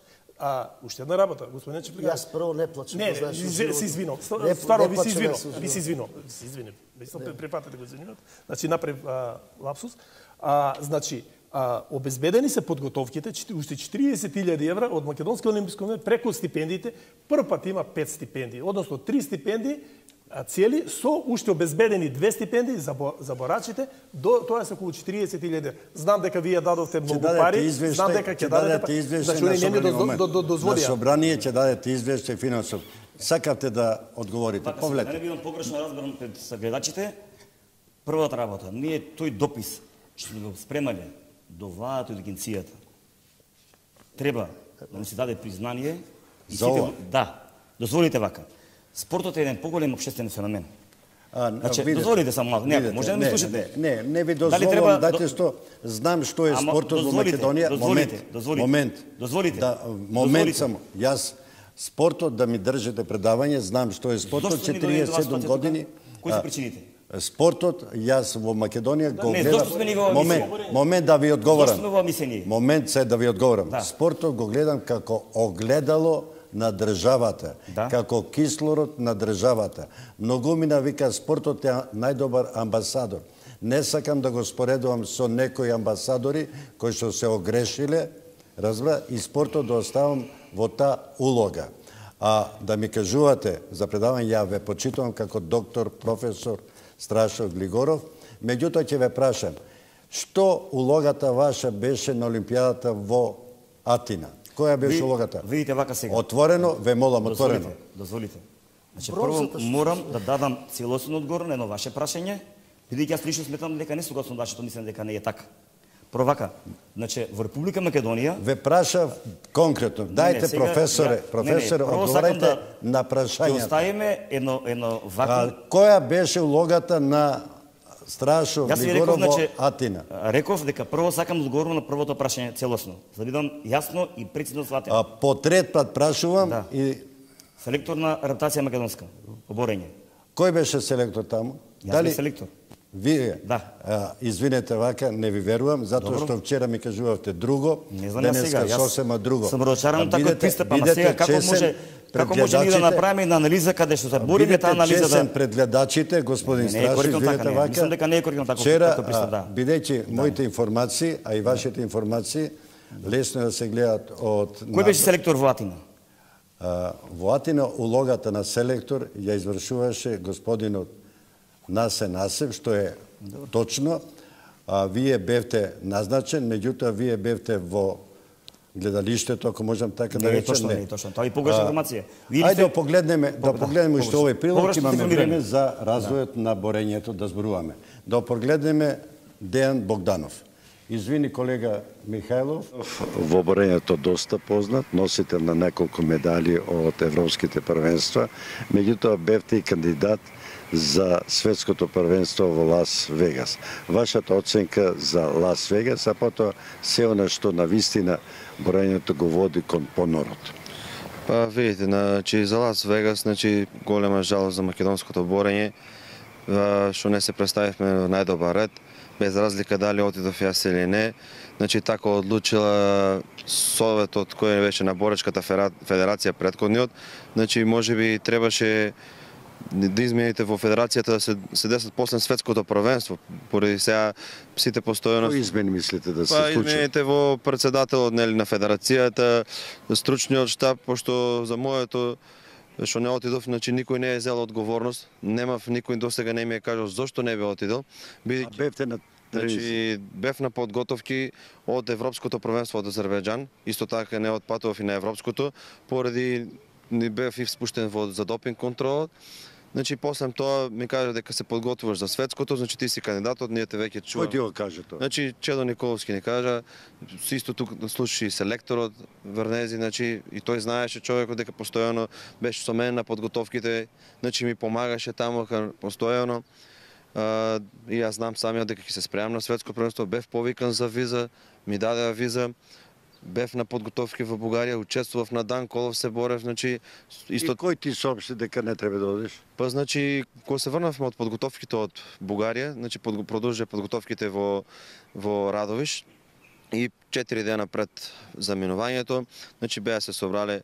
Уште една работа, господине Чифлиганец. Јас прво не плачам. Не, се извинувам. Стварно ви се извинувам. Ви се извинувам. Се извинувам. Мислам препатете го извинувам. Значи направив лапсус. Значи, обезбедени се подготовките, уште 40.000 евра од Македонски олимписки комитет преку стипендиите. Прв пат има 5 стипендии, односно 3 стипендии цели со уште обезбедени 2 стипендии за борачите, тоа се околу 40.000. Знам дека вие дадовте многу пари, знам дека ќе дадете, значи не ми дозволија. На собрание ќе дадете извештај финансов. Сакавте да одговорите. Повлете. Не бидам погрешно разбран пред гледачите. Првата работа, ние тој допис што го спремале до владата и до агенцијата, треба да му се даде признание. За ова? Да. Дозволите вака. Спортот е еден поголем општествен феномен. Значи, дозволите само малку. Не, може да ме слушате. Не ви дозволувам, дайте што знам што е спортот во Македонија. Дозволите. Момент само. Јас спортот да ми држите предавање, знам што е спортот 47 години. Кои се причините? Спортот, јас во Македонија го гледам. Момент да ви одговорам. Момент се да ви одговорам. Спортот го гледам како огледало на државата, како кислород на државата. Многумина вика спортот е најдобар амбасадор. Не сакам да го споредувам со некои амбасадори кои што се огрешиле, разбра, и спортот да оставам во таа улога. А да ми кажувате за предавање, ја ве почитувам како доктор, професор Страшов Глигоров, меѓутоа ќе ве прашам, што улогата ваша беше на Олимпијадата во Атина? Која беше улогата? Видите вака сега. Отворено, ве молам, отворено. Дозволите. Значи, прво морам да дадам целосен одговор на едно ваше прашање, бидејќи јас лично сметам дека не согласно вашето мислење дека не е така. Прво вака, значи во Република Македонија ве прашав конкретно. Дајте професоре, одговарајте на прашањата. Ќе оставиме едно вакуум. Која беше улогата на Страшов Глигоров во Атина? Реков дека прво сакам да одговорам на првото прашање целосно, за да бидам јасно и прецизно сватен. По трет пат прашувам и селектор на рептација македонска по борење. Кој беше селектор таму? Дали селектор? Вие? Да. Извинете вака, не ви верувам, затоа што вчера ми кажувавте друго, денеска сосема друго. Сум разочаран таков пристап, ама сега како може ни да направиме една анализа каде што се бориме таа анализа да пред гледачите, господин Страшов, извинете вака. Мислам дека не е коректно таков пристап, да. Бидејќи моите информации, а и вашите информации лесно да се гледат од Кој беше селектор во Атина? Во Атина улогата на селектор ја извршуваше господинот Насе Насев, што е точно. Вие бевте назначен, меѓутоа вие бевте во гледалиштето, ако можам така да речем. Не е точно, тоа е погрешна информација. Ајде да погледнеме уште овој прилог, имаме време за развојот на борењето да зборуваме. Да погледнеме Дејан Богданов. Извини, колега Михајлов. Во борењето доста познат, носител на неколку медали од европските првенства, меѓутоа бевте и кандидат за светското првенство во Лас Вегас. Вашата оценка за Лас Вегас, а потоа се она што на вистина борењето го води кон понорот. Па видите, значи за Лас Вегас, значи голема жалост за македонското борење, што не се представивме на најдобар ред, без разлика дали отидов јас или не. Значи така одлучила советот кој беше на боречката федерација претходниот, значи можеби требаше да измените во федерацијата да се десат после светското првенство, поради сега сите постојано. Кои измени мислите да се случат? измените во претседателот на федерацијата, стручниот штаб, пошто за моето што не отидов, значи никој не е зел одговорност, немав никој досега не ми е кажал зошто не бе отидел. Бевте на бев на подготовки од Европското првенство од Азербејџан, исто така не отпатував и на Европското, поради не бев испуштен за допинг контрол. Значи после тоа ми кажа дека се подготвуваш за светското, значи ти си кандидатот, ние те веќе чуваме. Кој ти го каже тоа? Значи Чедо Николовски ни кажа, исто тук слушаше и селекторот Врнези, значи и тој знаеше човекот дека постојано беше со мене на подготовките, значи ми помагаше таму постојано. И јас знам самиот дека ќе се спремам на светско првенство, бев повикан за виза, ми дадеа виза. Бев на подготовки во Бугарија, учествував на Дан Колов, се борев, значи исто. И кој ти соопшти дека не треба да одиш? Па значи кога се врнавме од подготовките од Бугарија, значи продолжија подготовките во Радовиш и 4 дена пред заминувањето, значи беа се собрале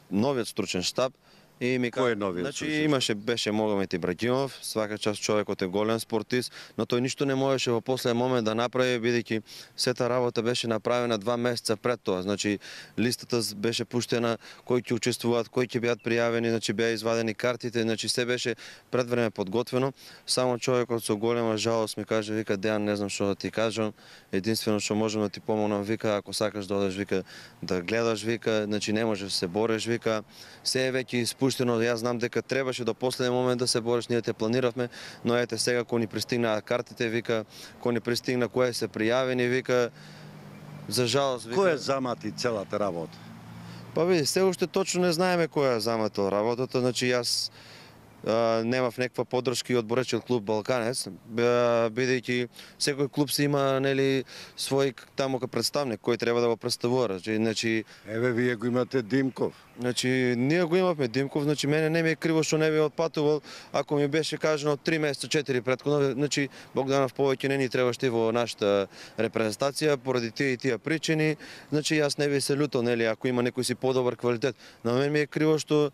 новиот стручен штаб. И ми кој е новиот? Значи беше Могомед Ибрагимов, свака час човекот е голем спортист, но тој ништо не можеше во последен момент да направи, бидејќи сета работа беше направена 2 месеца пред тоа. Значи листата беше пуштена, кои ќе учествуваат, кои ќе бидат пријавени, значи беа извадени картите, значи се беше пред време подготвено. Само човекот со голема жалост ми каже, вика, Дејан, не знам што да ти кажам, единствено што можам да ти помогнам, вика, ако сакаш да одеш, вика, да гледаш, вика, значи не можеш да се бориш, вика, се е веќе пуштено, јас знам дека требаше до последен момент да се бориш, ние те планиравме, но ете сега кога ни пристигнаа картите, вика, кога ни пристигна кои се пријавени, вика, за жалост, вика. Кој е замати целата работа? Па види, се уште точно не знаеме кој е заматил работата, значи јас немав некаква поддршка од боречиот клуб Балканец, бидејќи секој клуб си има, нели, свој таму представник кој треба да го представува. Значи еве вие го имате Димков. Значи ние го имавме Димков, значи мене не ми е криво што не би отпатувал, ако ми беше кажано 3 месеца 4 претходно, значи Богданов повеќе не ни требаше во нашата репрезентација поради тие причини, значи јас не би се лутал, нели, ако има некој си подобар квалитет. На мен ми е криво што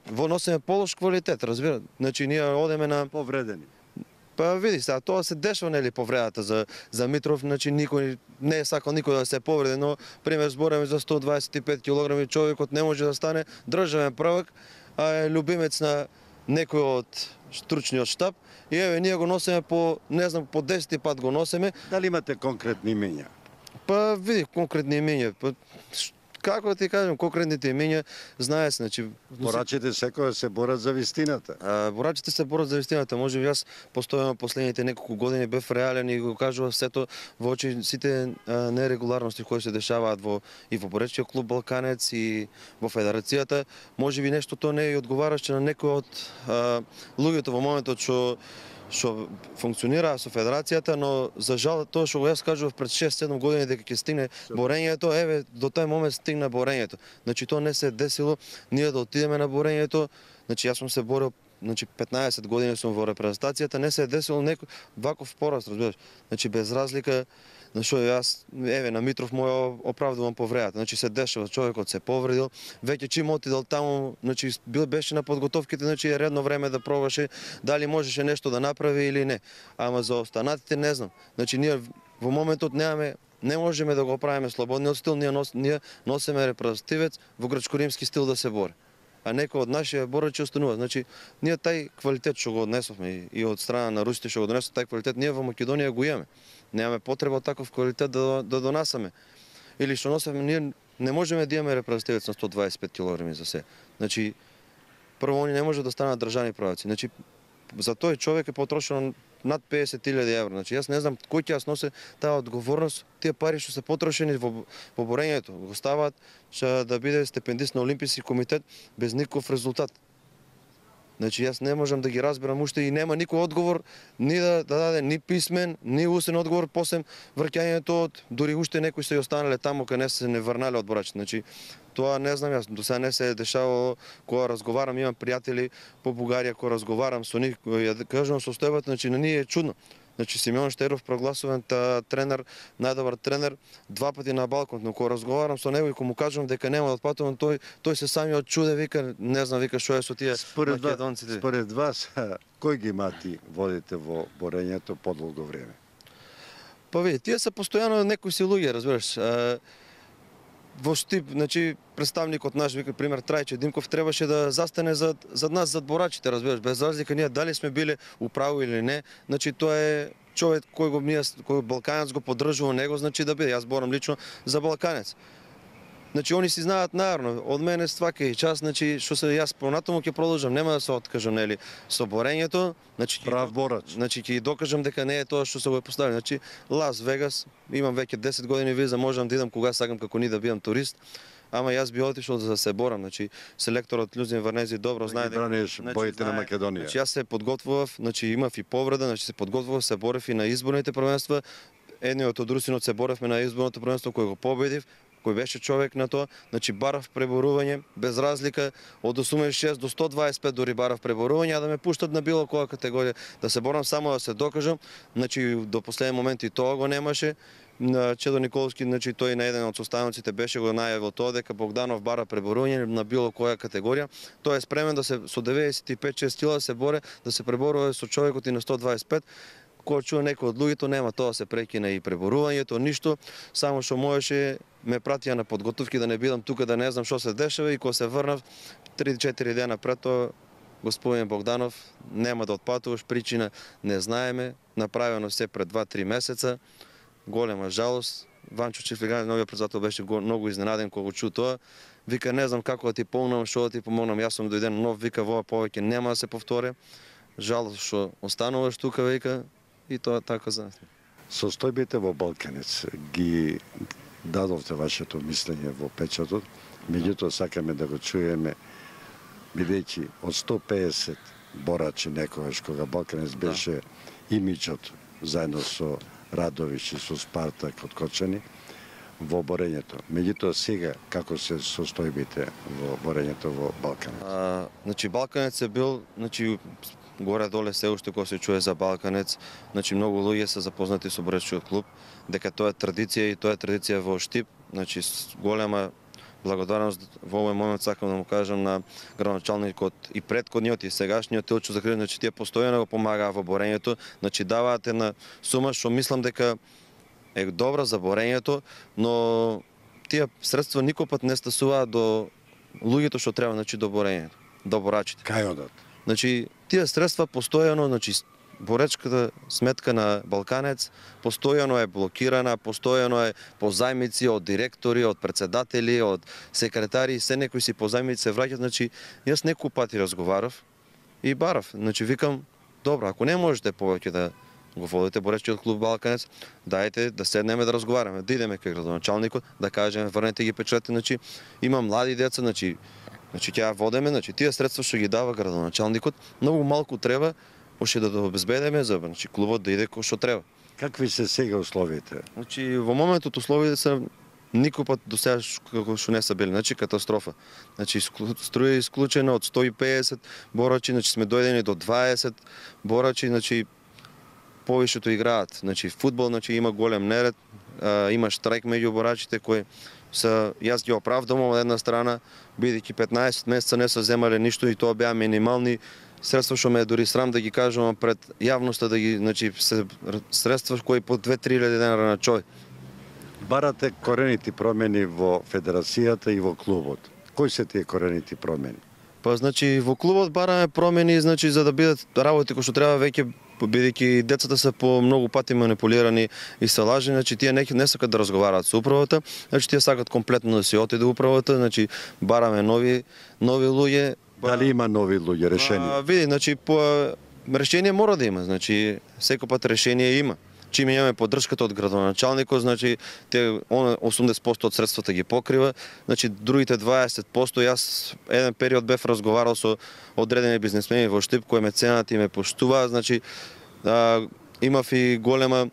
во носиме полош квалитет, разбира. Значи ние одеме на повредени. Па види сега, тоа се дешава, нели, повредата за Митров, значи никој не е сакал никој да се повреди, но пример збореме за 125 кг човекот не може да стане државен првак, а е любимец на некој од стручниот штаб и еве ние го носиме по, не знам, по 10 пат го носиме. Дали имате конкретни имења? Па види, конкретни имења, како да ти кажам, конкретните имења знае се, значи борачите секој се борат за вистината. Борачите се борат за вистината. Може би јас постојано последните неколку години бев реален и го кажував сето во очи сите нерегуларности кои се дешаваат и во боречиот клуб Балканец и во федерацијата. Може би нешто тоа не е одговараше на некој од луѓето во моментот што функционира со федерацијата, но за жал тоа што го јас кажував пред 6-7 години дека ќе стигне борењето, еве до тој момент стигна борењето. Значи тоа не се десило, ние да отидеме на борењето, значи јас сум се борил, значи 15 години сум во репрезентацијата, не се десило некој ваков пораст, разбираш. Значи без разлика на што јас, еве, на Митров мој оправдувам повредата. Значи се дешава, човекот се повредил, веќе чим отидел таму, значи беше на подготовките, значи е редно време да пробаше дали можеше нешто да направи или не. Ама за останатите не знам. Значи ние во моментот не можеме да го правиме слободниот стил, ние носиме репрезентативец во грчко-римски стил да се бори. А некој од нашите борачи останува. Значи, ние тај квалитет што го однесовме и од страна на русите што го донесов тај квалитет, ние во Македонија го имаме. Немаме потреба од таков квалитет да донасаме. Или што носевме, ние не можеме да имаме репрезентативец на 125 кг за се. Значи, прво они не може да станат државни праваци. Значи, за тој човек е потрошено над 50.000 евра. Значи, јас не знам кој ќе носи таа одговорност, тие пари што се потрошени во борењето, го ставаат да биде стипендист на Олимписки комитет без никаков резултат. Значи, јас не можам да ги разберам уште и нема никој одговор, ни да даде ни писмен, ни усен одговор, после враќањето дури уште некои се останале таму каде не се не врнале од борачите. Значи, тоа не знам јас, до сега не се е дешавало, кога разговарам, имам пријатели по Бугарија, кога разговарам со нив, ја кажувам состојбата, значи на ние е чудно. Значи Симеон Штеров прогласуван тренер, најдобар тренер, 2 пати на балкон, но кога разговарам со него и кога му кажувам дека нема да отпатувам, тој се самиот чуде, вика, не знам, вика што е со тие македонците. Според вас, кој ги мати водите во борењето подолго време? Па види, тие се постојано некои си луѓе, разбираш. Во штип, значи представникот наш, вика пример Трајче Димков, требаше да застане зад нас, зад борачите, разбираш, без разлика ние дали сме биле управо или не, значи тоа е човек кој Балканец го поддржува него, значи да биде. Јас борам лично за Балканец. Значи они си знаат најарно, од мене свака и час, значи што се јас понатаму ќе продолжам, нема да се откажам, нели, со борењето, значи прав борач. Значи ќе докажам дека не е тоа што се го постави. Значи Лас Вегас, имам веќе 10 години виза, можам да идам кога сакам како ни да бидам турист. Ама јас би отишол за да се борам, значи селекторот Љузин Варнези добро знае дека браниш боите на Македонија. Значи јас се подготвував, значи имав и повреда, значи се подготвував, се борев и на изборните првенства. Едниот од Русинот се боревме на изборното првенство кој го победив, кој беше човек на тоа, значи барав преборување без разлика од 86 до 125 дори барав преборување, а да ме пуштат на било која категорија, да се борам само да се докажам, значи до последен момент и тоа го немаше. На Чедо Николовски, значи тој на еден од составниците беше го најавил тоа дека Богданов бара преборување на било која категорија. Тој е спремен да се со 95-6 кила да се боре, да се преборува со човекот и на 125. Кога чува некој од луѓето, нема тоа се прекина и преборувањето, ништо, само што можеше ме пратија на подготовки да не бидам тука, да не знам што се дешава и кога се врнав 3-4 дена пред тоа, господин Богданов, нема да отпатуваш, причина не знаеме, направено се пред 2-3 месеца. Голема жалост. Ванчо Чифлиганец, новиот председател, беше многу изненаден кога го чу тоа. Вика, не знам како да ти помогнам, што да ти помогнам. Јас сум дојден нов, вика, во повеќе нема да се повтори. Жалост што остануваш тука, вика, и тоа така за. Состојбите во Балканец ги дадовте вашето мислење во печатот, меѓутоа сакаме да го чуеме, бидејќи од 150 борачи некогаш кога Балканец беше имиджот заедно со Радович и со Спартак од Кочани во борењето. Меѓутоа сега како се состојбите во борењето во Балканец? Значи Балканец е бил, значи горе-доле се уште кога се чуе за Балканец, значи многу луѓе се запознати со боречкиот клуб, дека тоа е традиција и тоа е традиција во Штип, значи голема благодарност во овој момент сакам да му кажам на градоначалникот и претходниот и сегашниот Илчо Захариевич, значи тие постојано го помагаа во борењето, значи даваат една сума што мислам дека е добра за борењето, но тие средства никој пат не стасуваат до луѓето што треба, значи до борењето, до борачите. Кај одат? Значи тие средства постојано, значи боречката сметка на Балканец постојано е блокирана, постојано е по зајмици од директори, од председатели, од секретари, се некои си по зајмици се враќаат, значи јас неколку пати разговарав и барав, значи викам, добро, ако не можете повеќе да го водите боречкиот клуб Балканец, дајте да седнеме да разговараме, да идеме кај градоначалникот, да кажеме врнете ги печатите, значи има млади деца, значи ќе ја водеме, значи тие средства што ги дава градоначалникот, многу малку треба уште да обезбедиме за значи клубот да иде кој што треба. Какви се сега условите? Значи во моментот условите се никој пат до сега како што не се били, значи катастрофа. Значи струја исклучена од 150 борачи, значи сме дојдени до 20 борачи, значи повишето играат. Значи фудбал, значи има голем неред, има штрајк меѓу борачите кои се јас ги оправдувам од една страна, бидејќи 15 месеца не се земале ништо и тоа беа минимални средства што ме е дури срам да ги кажувам пред јавноста, да ги, значи, средства кои по 2-3 денара на човек. Барате коренити промени во федерацијата и во клубот. Кои се тие коренити промени? Па значи во клубот бараме промени, значи за да бидат работи кои што треба веќе, бидејќи децата се по многу пати манипулирани и се лажени, значи тие не сакат да разговараат со управата, значи тие сакат комплетно да си отиде управата, значи бараме нови луѓе. Дали има нови луѓе решени? Види, значи по решение мора да има, значи секој пат решение има. Чим имаме поддршката од градоначалникот, значи те 80% од средствата ги покрива, значи другите 20% јас еден период бев разговарал со одредени бизнисмени во Штип кои ме ценат и ме поштуваат, значи имав и голема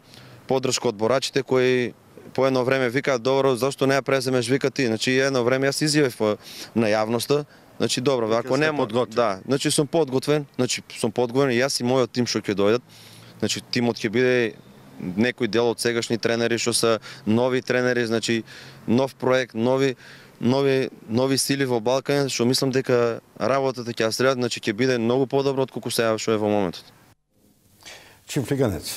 поддршка од борачите кои по едно време викаат добро, зашто не ја преземеш, вика ти, значи едно време јас изјавив на јавноста. Значи добро, ако нема, да, значи сум подготвен и јас и мојот тим што ќе дојдат. Значи тимот ќе биде некој дел од сегашни тренери што се нови тренери, значи нов проект, нови сили во Балкан, што мислам дека работата ќе ја средат, значи ќе биде многу подобро од колку сега што е во моментот. Чифлиганец,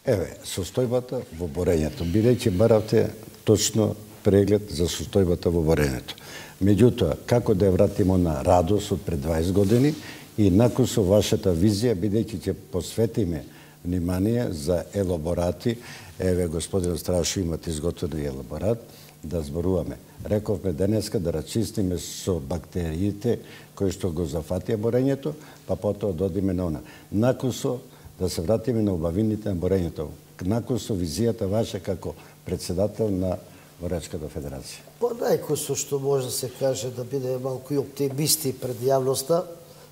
еве, состојбата во борењето, бидејќи баравте точно преглед за состојбата во борењето. Меѓутоа, како да ја вратимо на радост од пред 20 години и након со вашата визија, бидејќи ќе посветиме внимание за елаборати, еве, господин Страшо, имате изготвен елаборат, да зборуваме. Рековме денеска да рачистиме со бактериите кои што го зафатија борењето, па потоа додиме на она. Накусо да се вратиме на убавините на борењето. Накусо визијата ваша како председател на Борачката федерација. По најкусо што може да се каже да биде малку и оптимисти пред јавноста,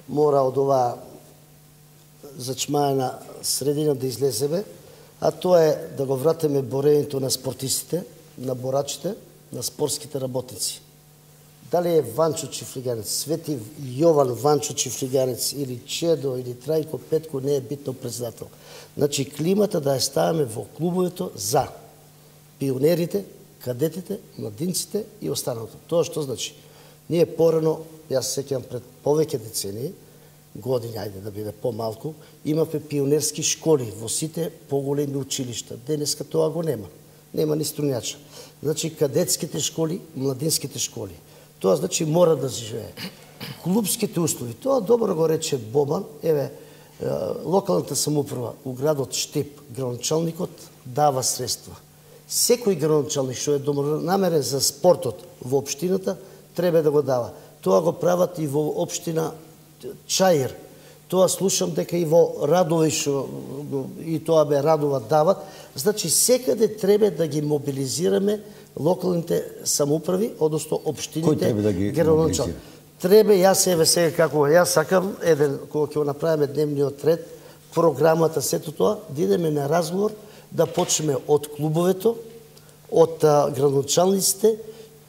мора од оваа зачмаена средина да излеземе, а тоа е да го вратиме борењето на спортистите, на борачите, на спортските работници. Дали е Ванчо Чифлиганец, Свети Јован Ванчо Чифлиганец или Чедо или Трајко Петко не е битно председател. Значи климата да ја ставаме во клубовето за пионерите, кадетите, младинците и останалото. Тоа што значи? Ние порано, јас се сеќавам пред повеќе децении, години, ајде да биде помалку, имавме пионерски школи во сите поголеми училишта. Денеска тоа го нема. Нема ни струнјача. Значи кадетските школи, младинските школи. Тоа значи мора да живее. Клубските услови, тоа добро го рече Бобан, еве, локалната самоуправа у градот Штип, градоначалникот дава средства. Секој градоначалник што е добронамерен за спортот во општината треба да го дава. Тоа го прават и во општина Чаир. Тоа слушам дека и во Радовиш и тоа бе Радова дават. Значи секаде треба да ги мобилизираме локалните самоуправи, односно општините да ги градоначалници. Треба, јас еве сега како јас сакам еден кога ќе го направиме дневниот ред, програмата, сето тоа, да идеме на разговор, да почнеме од клубовето, од градоначалниците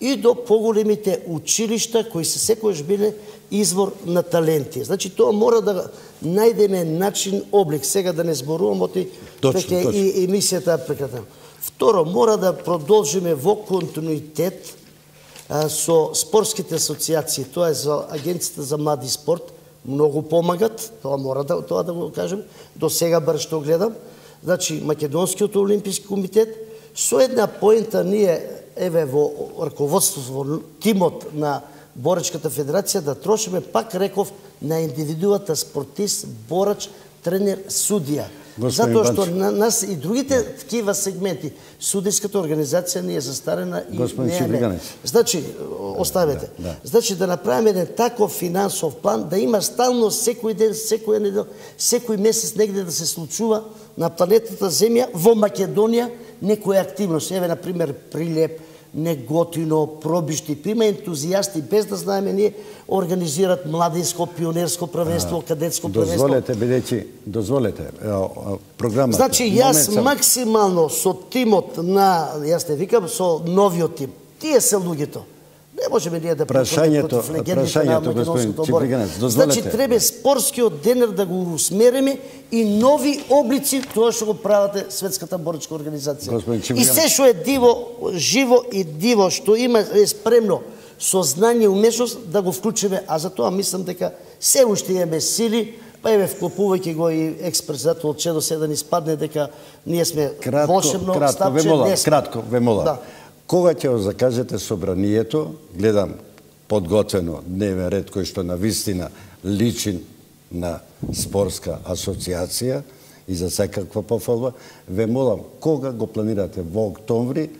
и до поголемите училишта кои се секојаш биле извор на таленти. Значи тоа мора да најдеме начин, облик. Сега да не зборувам оти веќе и емисијата прекратам. Второ, мора да продолжиме во континуитет со спортските асоциации. Тоа е за Агенцијата за млади спорт. Многу помагат, тоа мора тоа да го кажем. До сега бар што гледам. Значи, Македонскиот олимписки комитет, со една поента ние, еве, во раководството, во тимот на Борачката федерација, да трошиме, пак реков, на индивидуата спортист, борач, тренер, судија. Затоа што на нас и другите такива сегменти, судиската организација не е застарена и не е. Значи, оставете. Значи, да направиме еден таков финансов план, да има стално секој ден, секоја недел, секој месец негде да се случува на планетата Земја, во Македонија, некоја активност. Еве, например, Прилеп, Неготино, Пробишти, има ентузијасти, без да знаеме ние, организират младинско, пионерско правенство, кадетско правенство. Дозволете, програмата. Значи, јас максимално со тимот на, јас не викам, со новиот тим, тие се луѓето. Не можеме ние да прашањето, господин Чифлиганец, дозволете. Значи, треба спортскиот денер да го усмериме и нови облици, тоа што го правате Светската борачка организација. И се што е диво, живо и диво, што има е спремно со знање и умешност, да го вклучиме. А за тоа мислам дека се уште имаме сили, па еве вклопувајќи го и екс-председател Чедо се да ни спадне дека ние сме волшебно стапче десна. Кратко, ве молам. Кога ќе го закажете собранието, гледам подготвено дневен ред кој што на вистина личи на спортска асоциација и за секаква пофалба, ве молам, кога го планирате? Во октомври?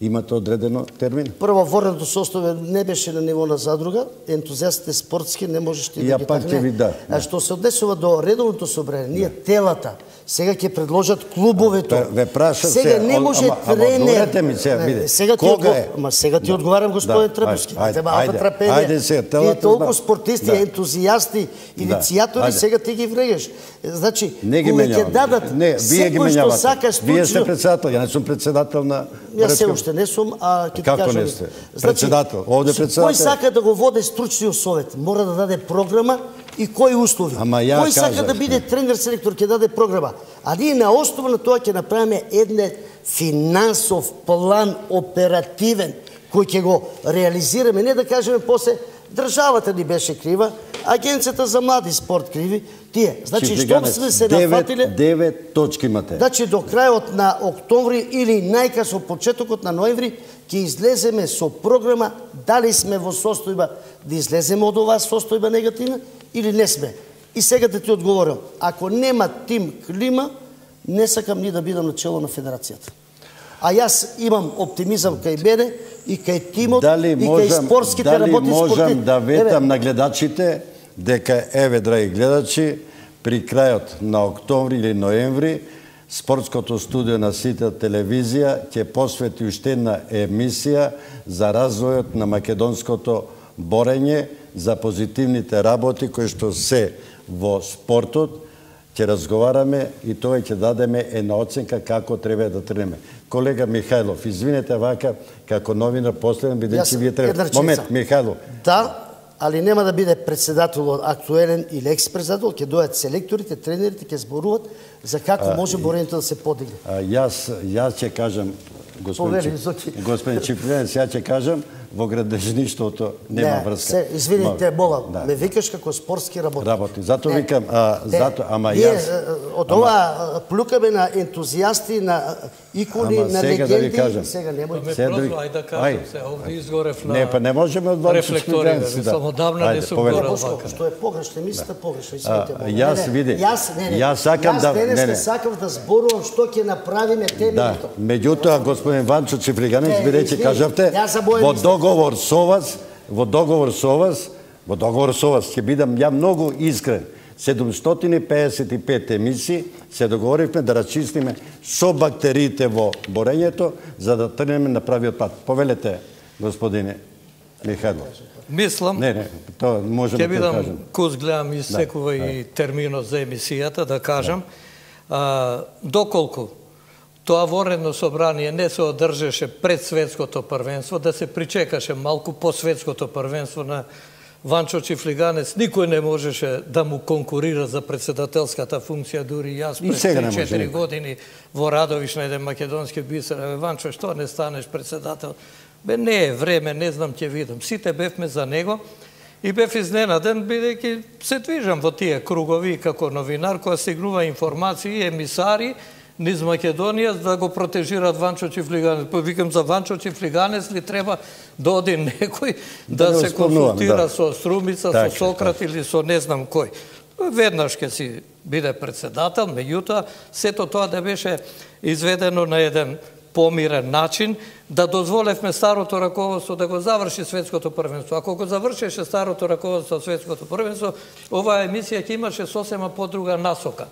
Имате одредено термин? Прво, ворното состојбе не беше на ниво на задруга, ентузијастите спортски не можете да ги такне. А што се однесува до редовното собрание, ние телата, сега ќе предложат клубовето. Ве прашам се, сега не може тренер. Ми сега, биде. Сега ти одговарам, господин Требовски. Ајде се, телата. Ти толку спортисти, ентузијасти, иницијатори, сега ти ги врегаш. Значи, кога ќе дадат секој што сака стручно... Вие сте председател, ја не сум председател на... Јас се уште не сум, а ќе ти кажам... Како не сте? Председател, овде председател... Кој сака да го води стручниот совет, мора да даде програма и кои услови. Кој сака да биде тренер-селектор, ќе даде програма. А ние на основа на тоа ќе направиме еден финансов план оперативен, кој ќе го реализираме. Не да кажеме после, државата ни беше крива, Агенцијата за млади спорт криви, тие. Значи, што сме се нафатиле... 9 точки имате. Значи, до крајот на октомври или најкасно почетокот на ноември ќе излеземе со програма дали сме во состојба да излеземе од оваа состојба негативна или не сме. И сега да ти одговорам, ако нема тим клима, не сакам ни да бидам начело на федерацијата. А јас имам оптимизам кај мене и кај тимот и кај спортските работници. Дали можам да ветам на гледачите дека еве, драги гледачи, при крајот на октомври или ноември Спортското студио на Сител телевизија ќе посвети уште една емисија за развојот на македонското борење, за позитивните работи кои што се во спортот. Ќе разговараме и тоа ќе дадеме една оценка како треба да тренеме. Колега Михајлов, извинете вака, како новинар последен, бидејќи вие треба... Момент, Михајлов. Да, али нема да биде председател актуелен или екс-председател, ќе дојдат селекторите, тренерите, ќе зборуваат за како може борењето да се подигне. Јас ќе кажам, господин Чифлинец, ја ќе кажам, во градежништвото нема врска. Извините, молам, ме викаш како спортски работник. Зато викам, ама јас... Од ова плюкаме на ентузијасти, на икони, на легенди. Сега немој. Ајде да кажам се, овде изгорев на Не, па не можеме од рефлектори, само давна не сум горел вака. Што е погрешно, мислите погрешно, извините. Јас види. Јас сакам да зборувам што ќе направиме темелито. Меѓутоа, господин Ванчо Чифлиганец, бидејќи кажавте, во договор со вас ќе бидам ја многу искрен. 755 емисии се договоривме да рачистиме со бактериите во борењето за да тргнеме на правиот пат. Повелете, господине Михајлов. Мислам, тоа можеме ќе бидам кус гледам и секува и терминот за емисијата да кажам. Доколку тоа воредно собрание не се одржеше пред светското првенство, да се причекаше малку по светското првенство на Ванчо Чифлиганец, никој не можеше да му конкурира за председателската функција, дури јас пред 3-4 години во Радовиш на еден македонски бисер. Ванчо, што не станеш председател? Не е време, не знам, ќе видам. Сите бевме за него и бев изненаден, бидејќи се движам во тие кругови како новинар, која стигнува информации и емисари низ Македонија да го протежираат Ванчо Чифлиганец. Викам, за Ванчо Чифлиганец ли треба да оди некој да се консултира со Струмица, со Сократ или со не знам кој. Веднаш ќе си биде председател, меѓутоа сето тоа да беше изведено на еден помирен начин, да дозволевме старото раководство да го заврши светското првенство. Ако го завршеше старото раководство светското првенство, оваа емисија ќе имаше сосема подруга насока.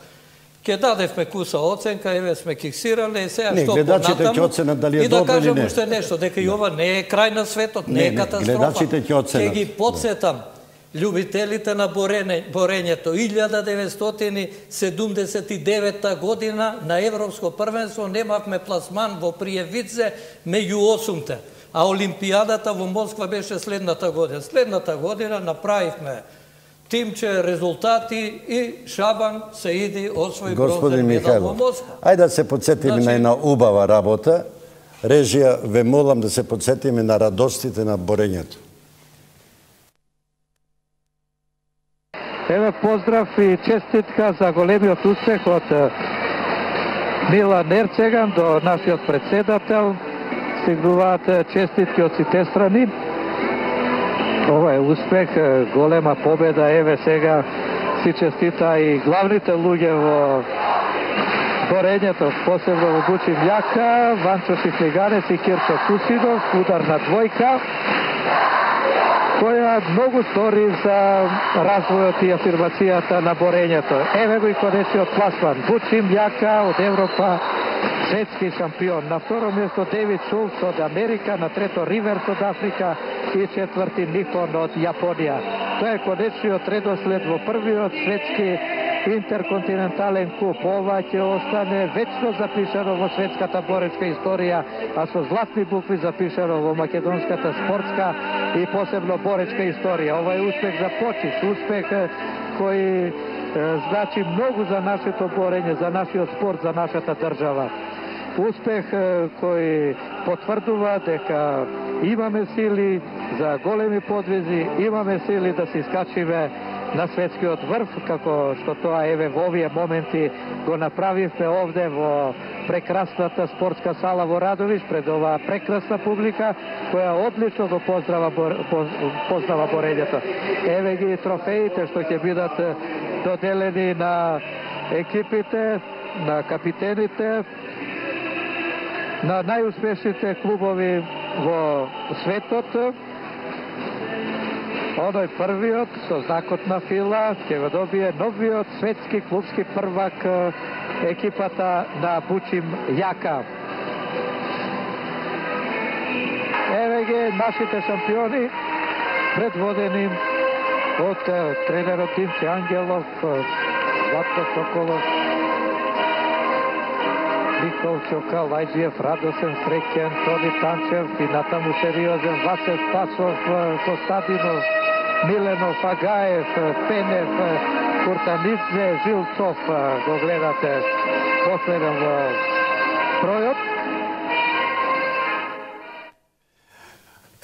Ке дадевме куса оценка, еве сме киксирале, сега што понатаму, и да кажам уште нешто, дека и ова не е крај на светот, не е катастрофа. Ке ги подсетам, љубителите на борењето, 1979 година на Европско првенство немавме пласман во Пријевице меѓу 8-те, а Олимпијадата во Москва беше следната година. Следната година направивме тимче резултати и Шабан се иди освои бронзен медал во Москва. Ајде да се подсетиме на една убава работа. Режија, ве молам да се подсетиме на радостите на борењето. Еве поздрав и честитка за големиот успех од Милан Ерцеган до нашиот председател. Стигнуваат честитки од сите страни. Ова е успех, голема победа. Еве сега си честита и главните луѓе во борењето, посебно во Бучим Јака, Ванчо Чифлиганец и Кирчо Кусидов, ударна двојка, која многу стори за развојот и афирмацијата на борењето. Еве го и конечниот пласман. Бучим Јака од Европа, светски шампион. На второ место Девид Шулц од Америка, на трето Риверс од Африка и четврти Нихон од Јапонија. Тоа е конечниот редослед во првиот светски интерконтинентален куп. Ова ќе остане вечно запишано во светската боречка историја, а со златни букви запишано во македонската спортска и посебно боречка историја. Ова е успех за Почис, успех кој значи многу за нашето борење, за нашиот спорт, за нашата држава. Успех кој потврдува дека имаме сили за големи подвизи, имаме сили да се искачиме на светскиот врв, како што тоа еве во овие моменти го направивме овде во прекрасната спортска сала во Радовиш, пред оваа прекрасна публика, која одлично го познава борењето. Еве ги трофеите што ќе бидат доделени на екипите, на капитените. на најуспешните клубови во светот. Оној првиот со знакот на фила ќе го добие новиот светски клубски првак екипата на Бучим Јака. Еве ги нашите шампиони, предводени од тренерот Димче Ангелов, Златко Соколов, Никол Чока, Лајджиев, Радосен Среќен, Тони Танчев и натаму сериозен Васев Пасов, Костадинов, Миленов, Агаев, Пенев, Куртанидзе, Жилцов го гледате последен во бројот.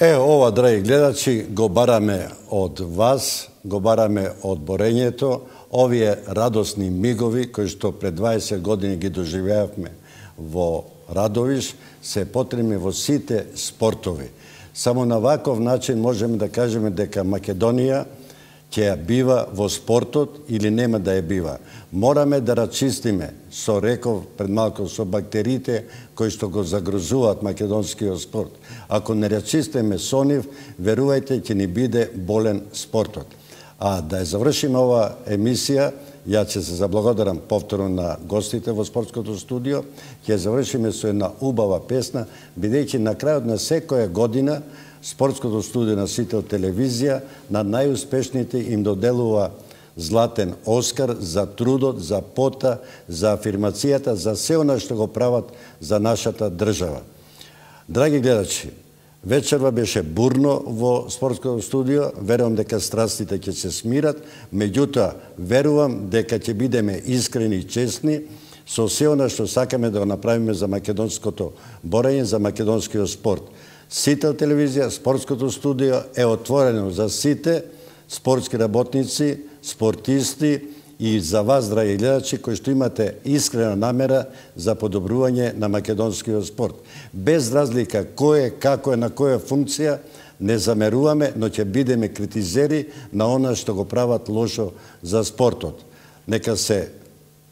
Ова, драги гледачи, го бараме од вас, го бараме од борењето, овие радосни мигови кои што пред 20 години ги доживеавме во Радовиш, се потребни во сите спортови. Само на ваков начин можеме да кажеме дека Македонија ќе ја бива во спортот или нема да ја бива. Мораме да рачистиме, со реков пред малку, со бактериите кои што го загрозуваат македонскиот спорт. Ако не рачистиме со нив, верувајте, ќе ни биде болен спортот. А да ја завршиме ова емисија, ја ќе се заблагодарам повторно на гостите во спортското студио, ќе завршиме со една убава песна, бидејќи на крајот на секоја година спортското студио на Сител телевизија на најуспешните им доделува Златен Оскар за трудот, за пота, за афирмацијата, за се она што го прават за нашата држава. Драги гледачи, вечерва беше бурно во спортското студио, верувам дека страстите ќе се смират, меѓутоа верувам дека ќе бидеме искрени и честни со се она што сакаме да го направиме за македонското борење, за македонскиот спорт. Сител телевизија, спортското студио е отворено за сите спортски работници, спортисти и за вас, драги гледачи, кои што имате искрена намера за подобрување на македонскиот спорт. Без разлика кој е, како е, на која функција, не замеруваме, но ќе бидеме критизери на она што го прават лошо за спортот. Нека се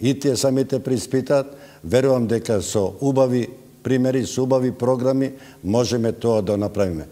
и тие самите преиспитаат, верувам дека со убави примери, со убави програми можеме тоа да направиме.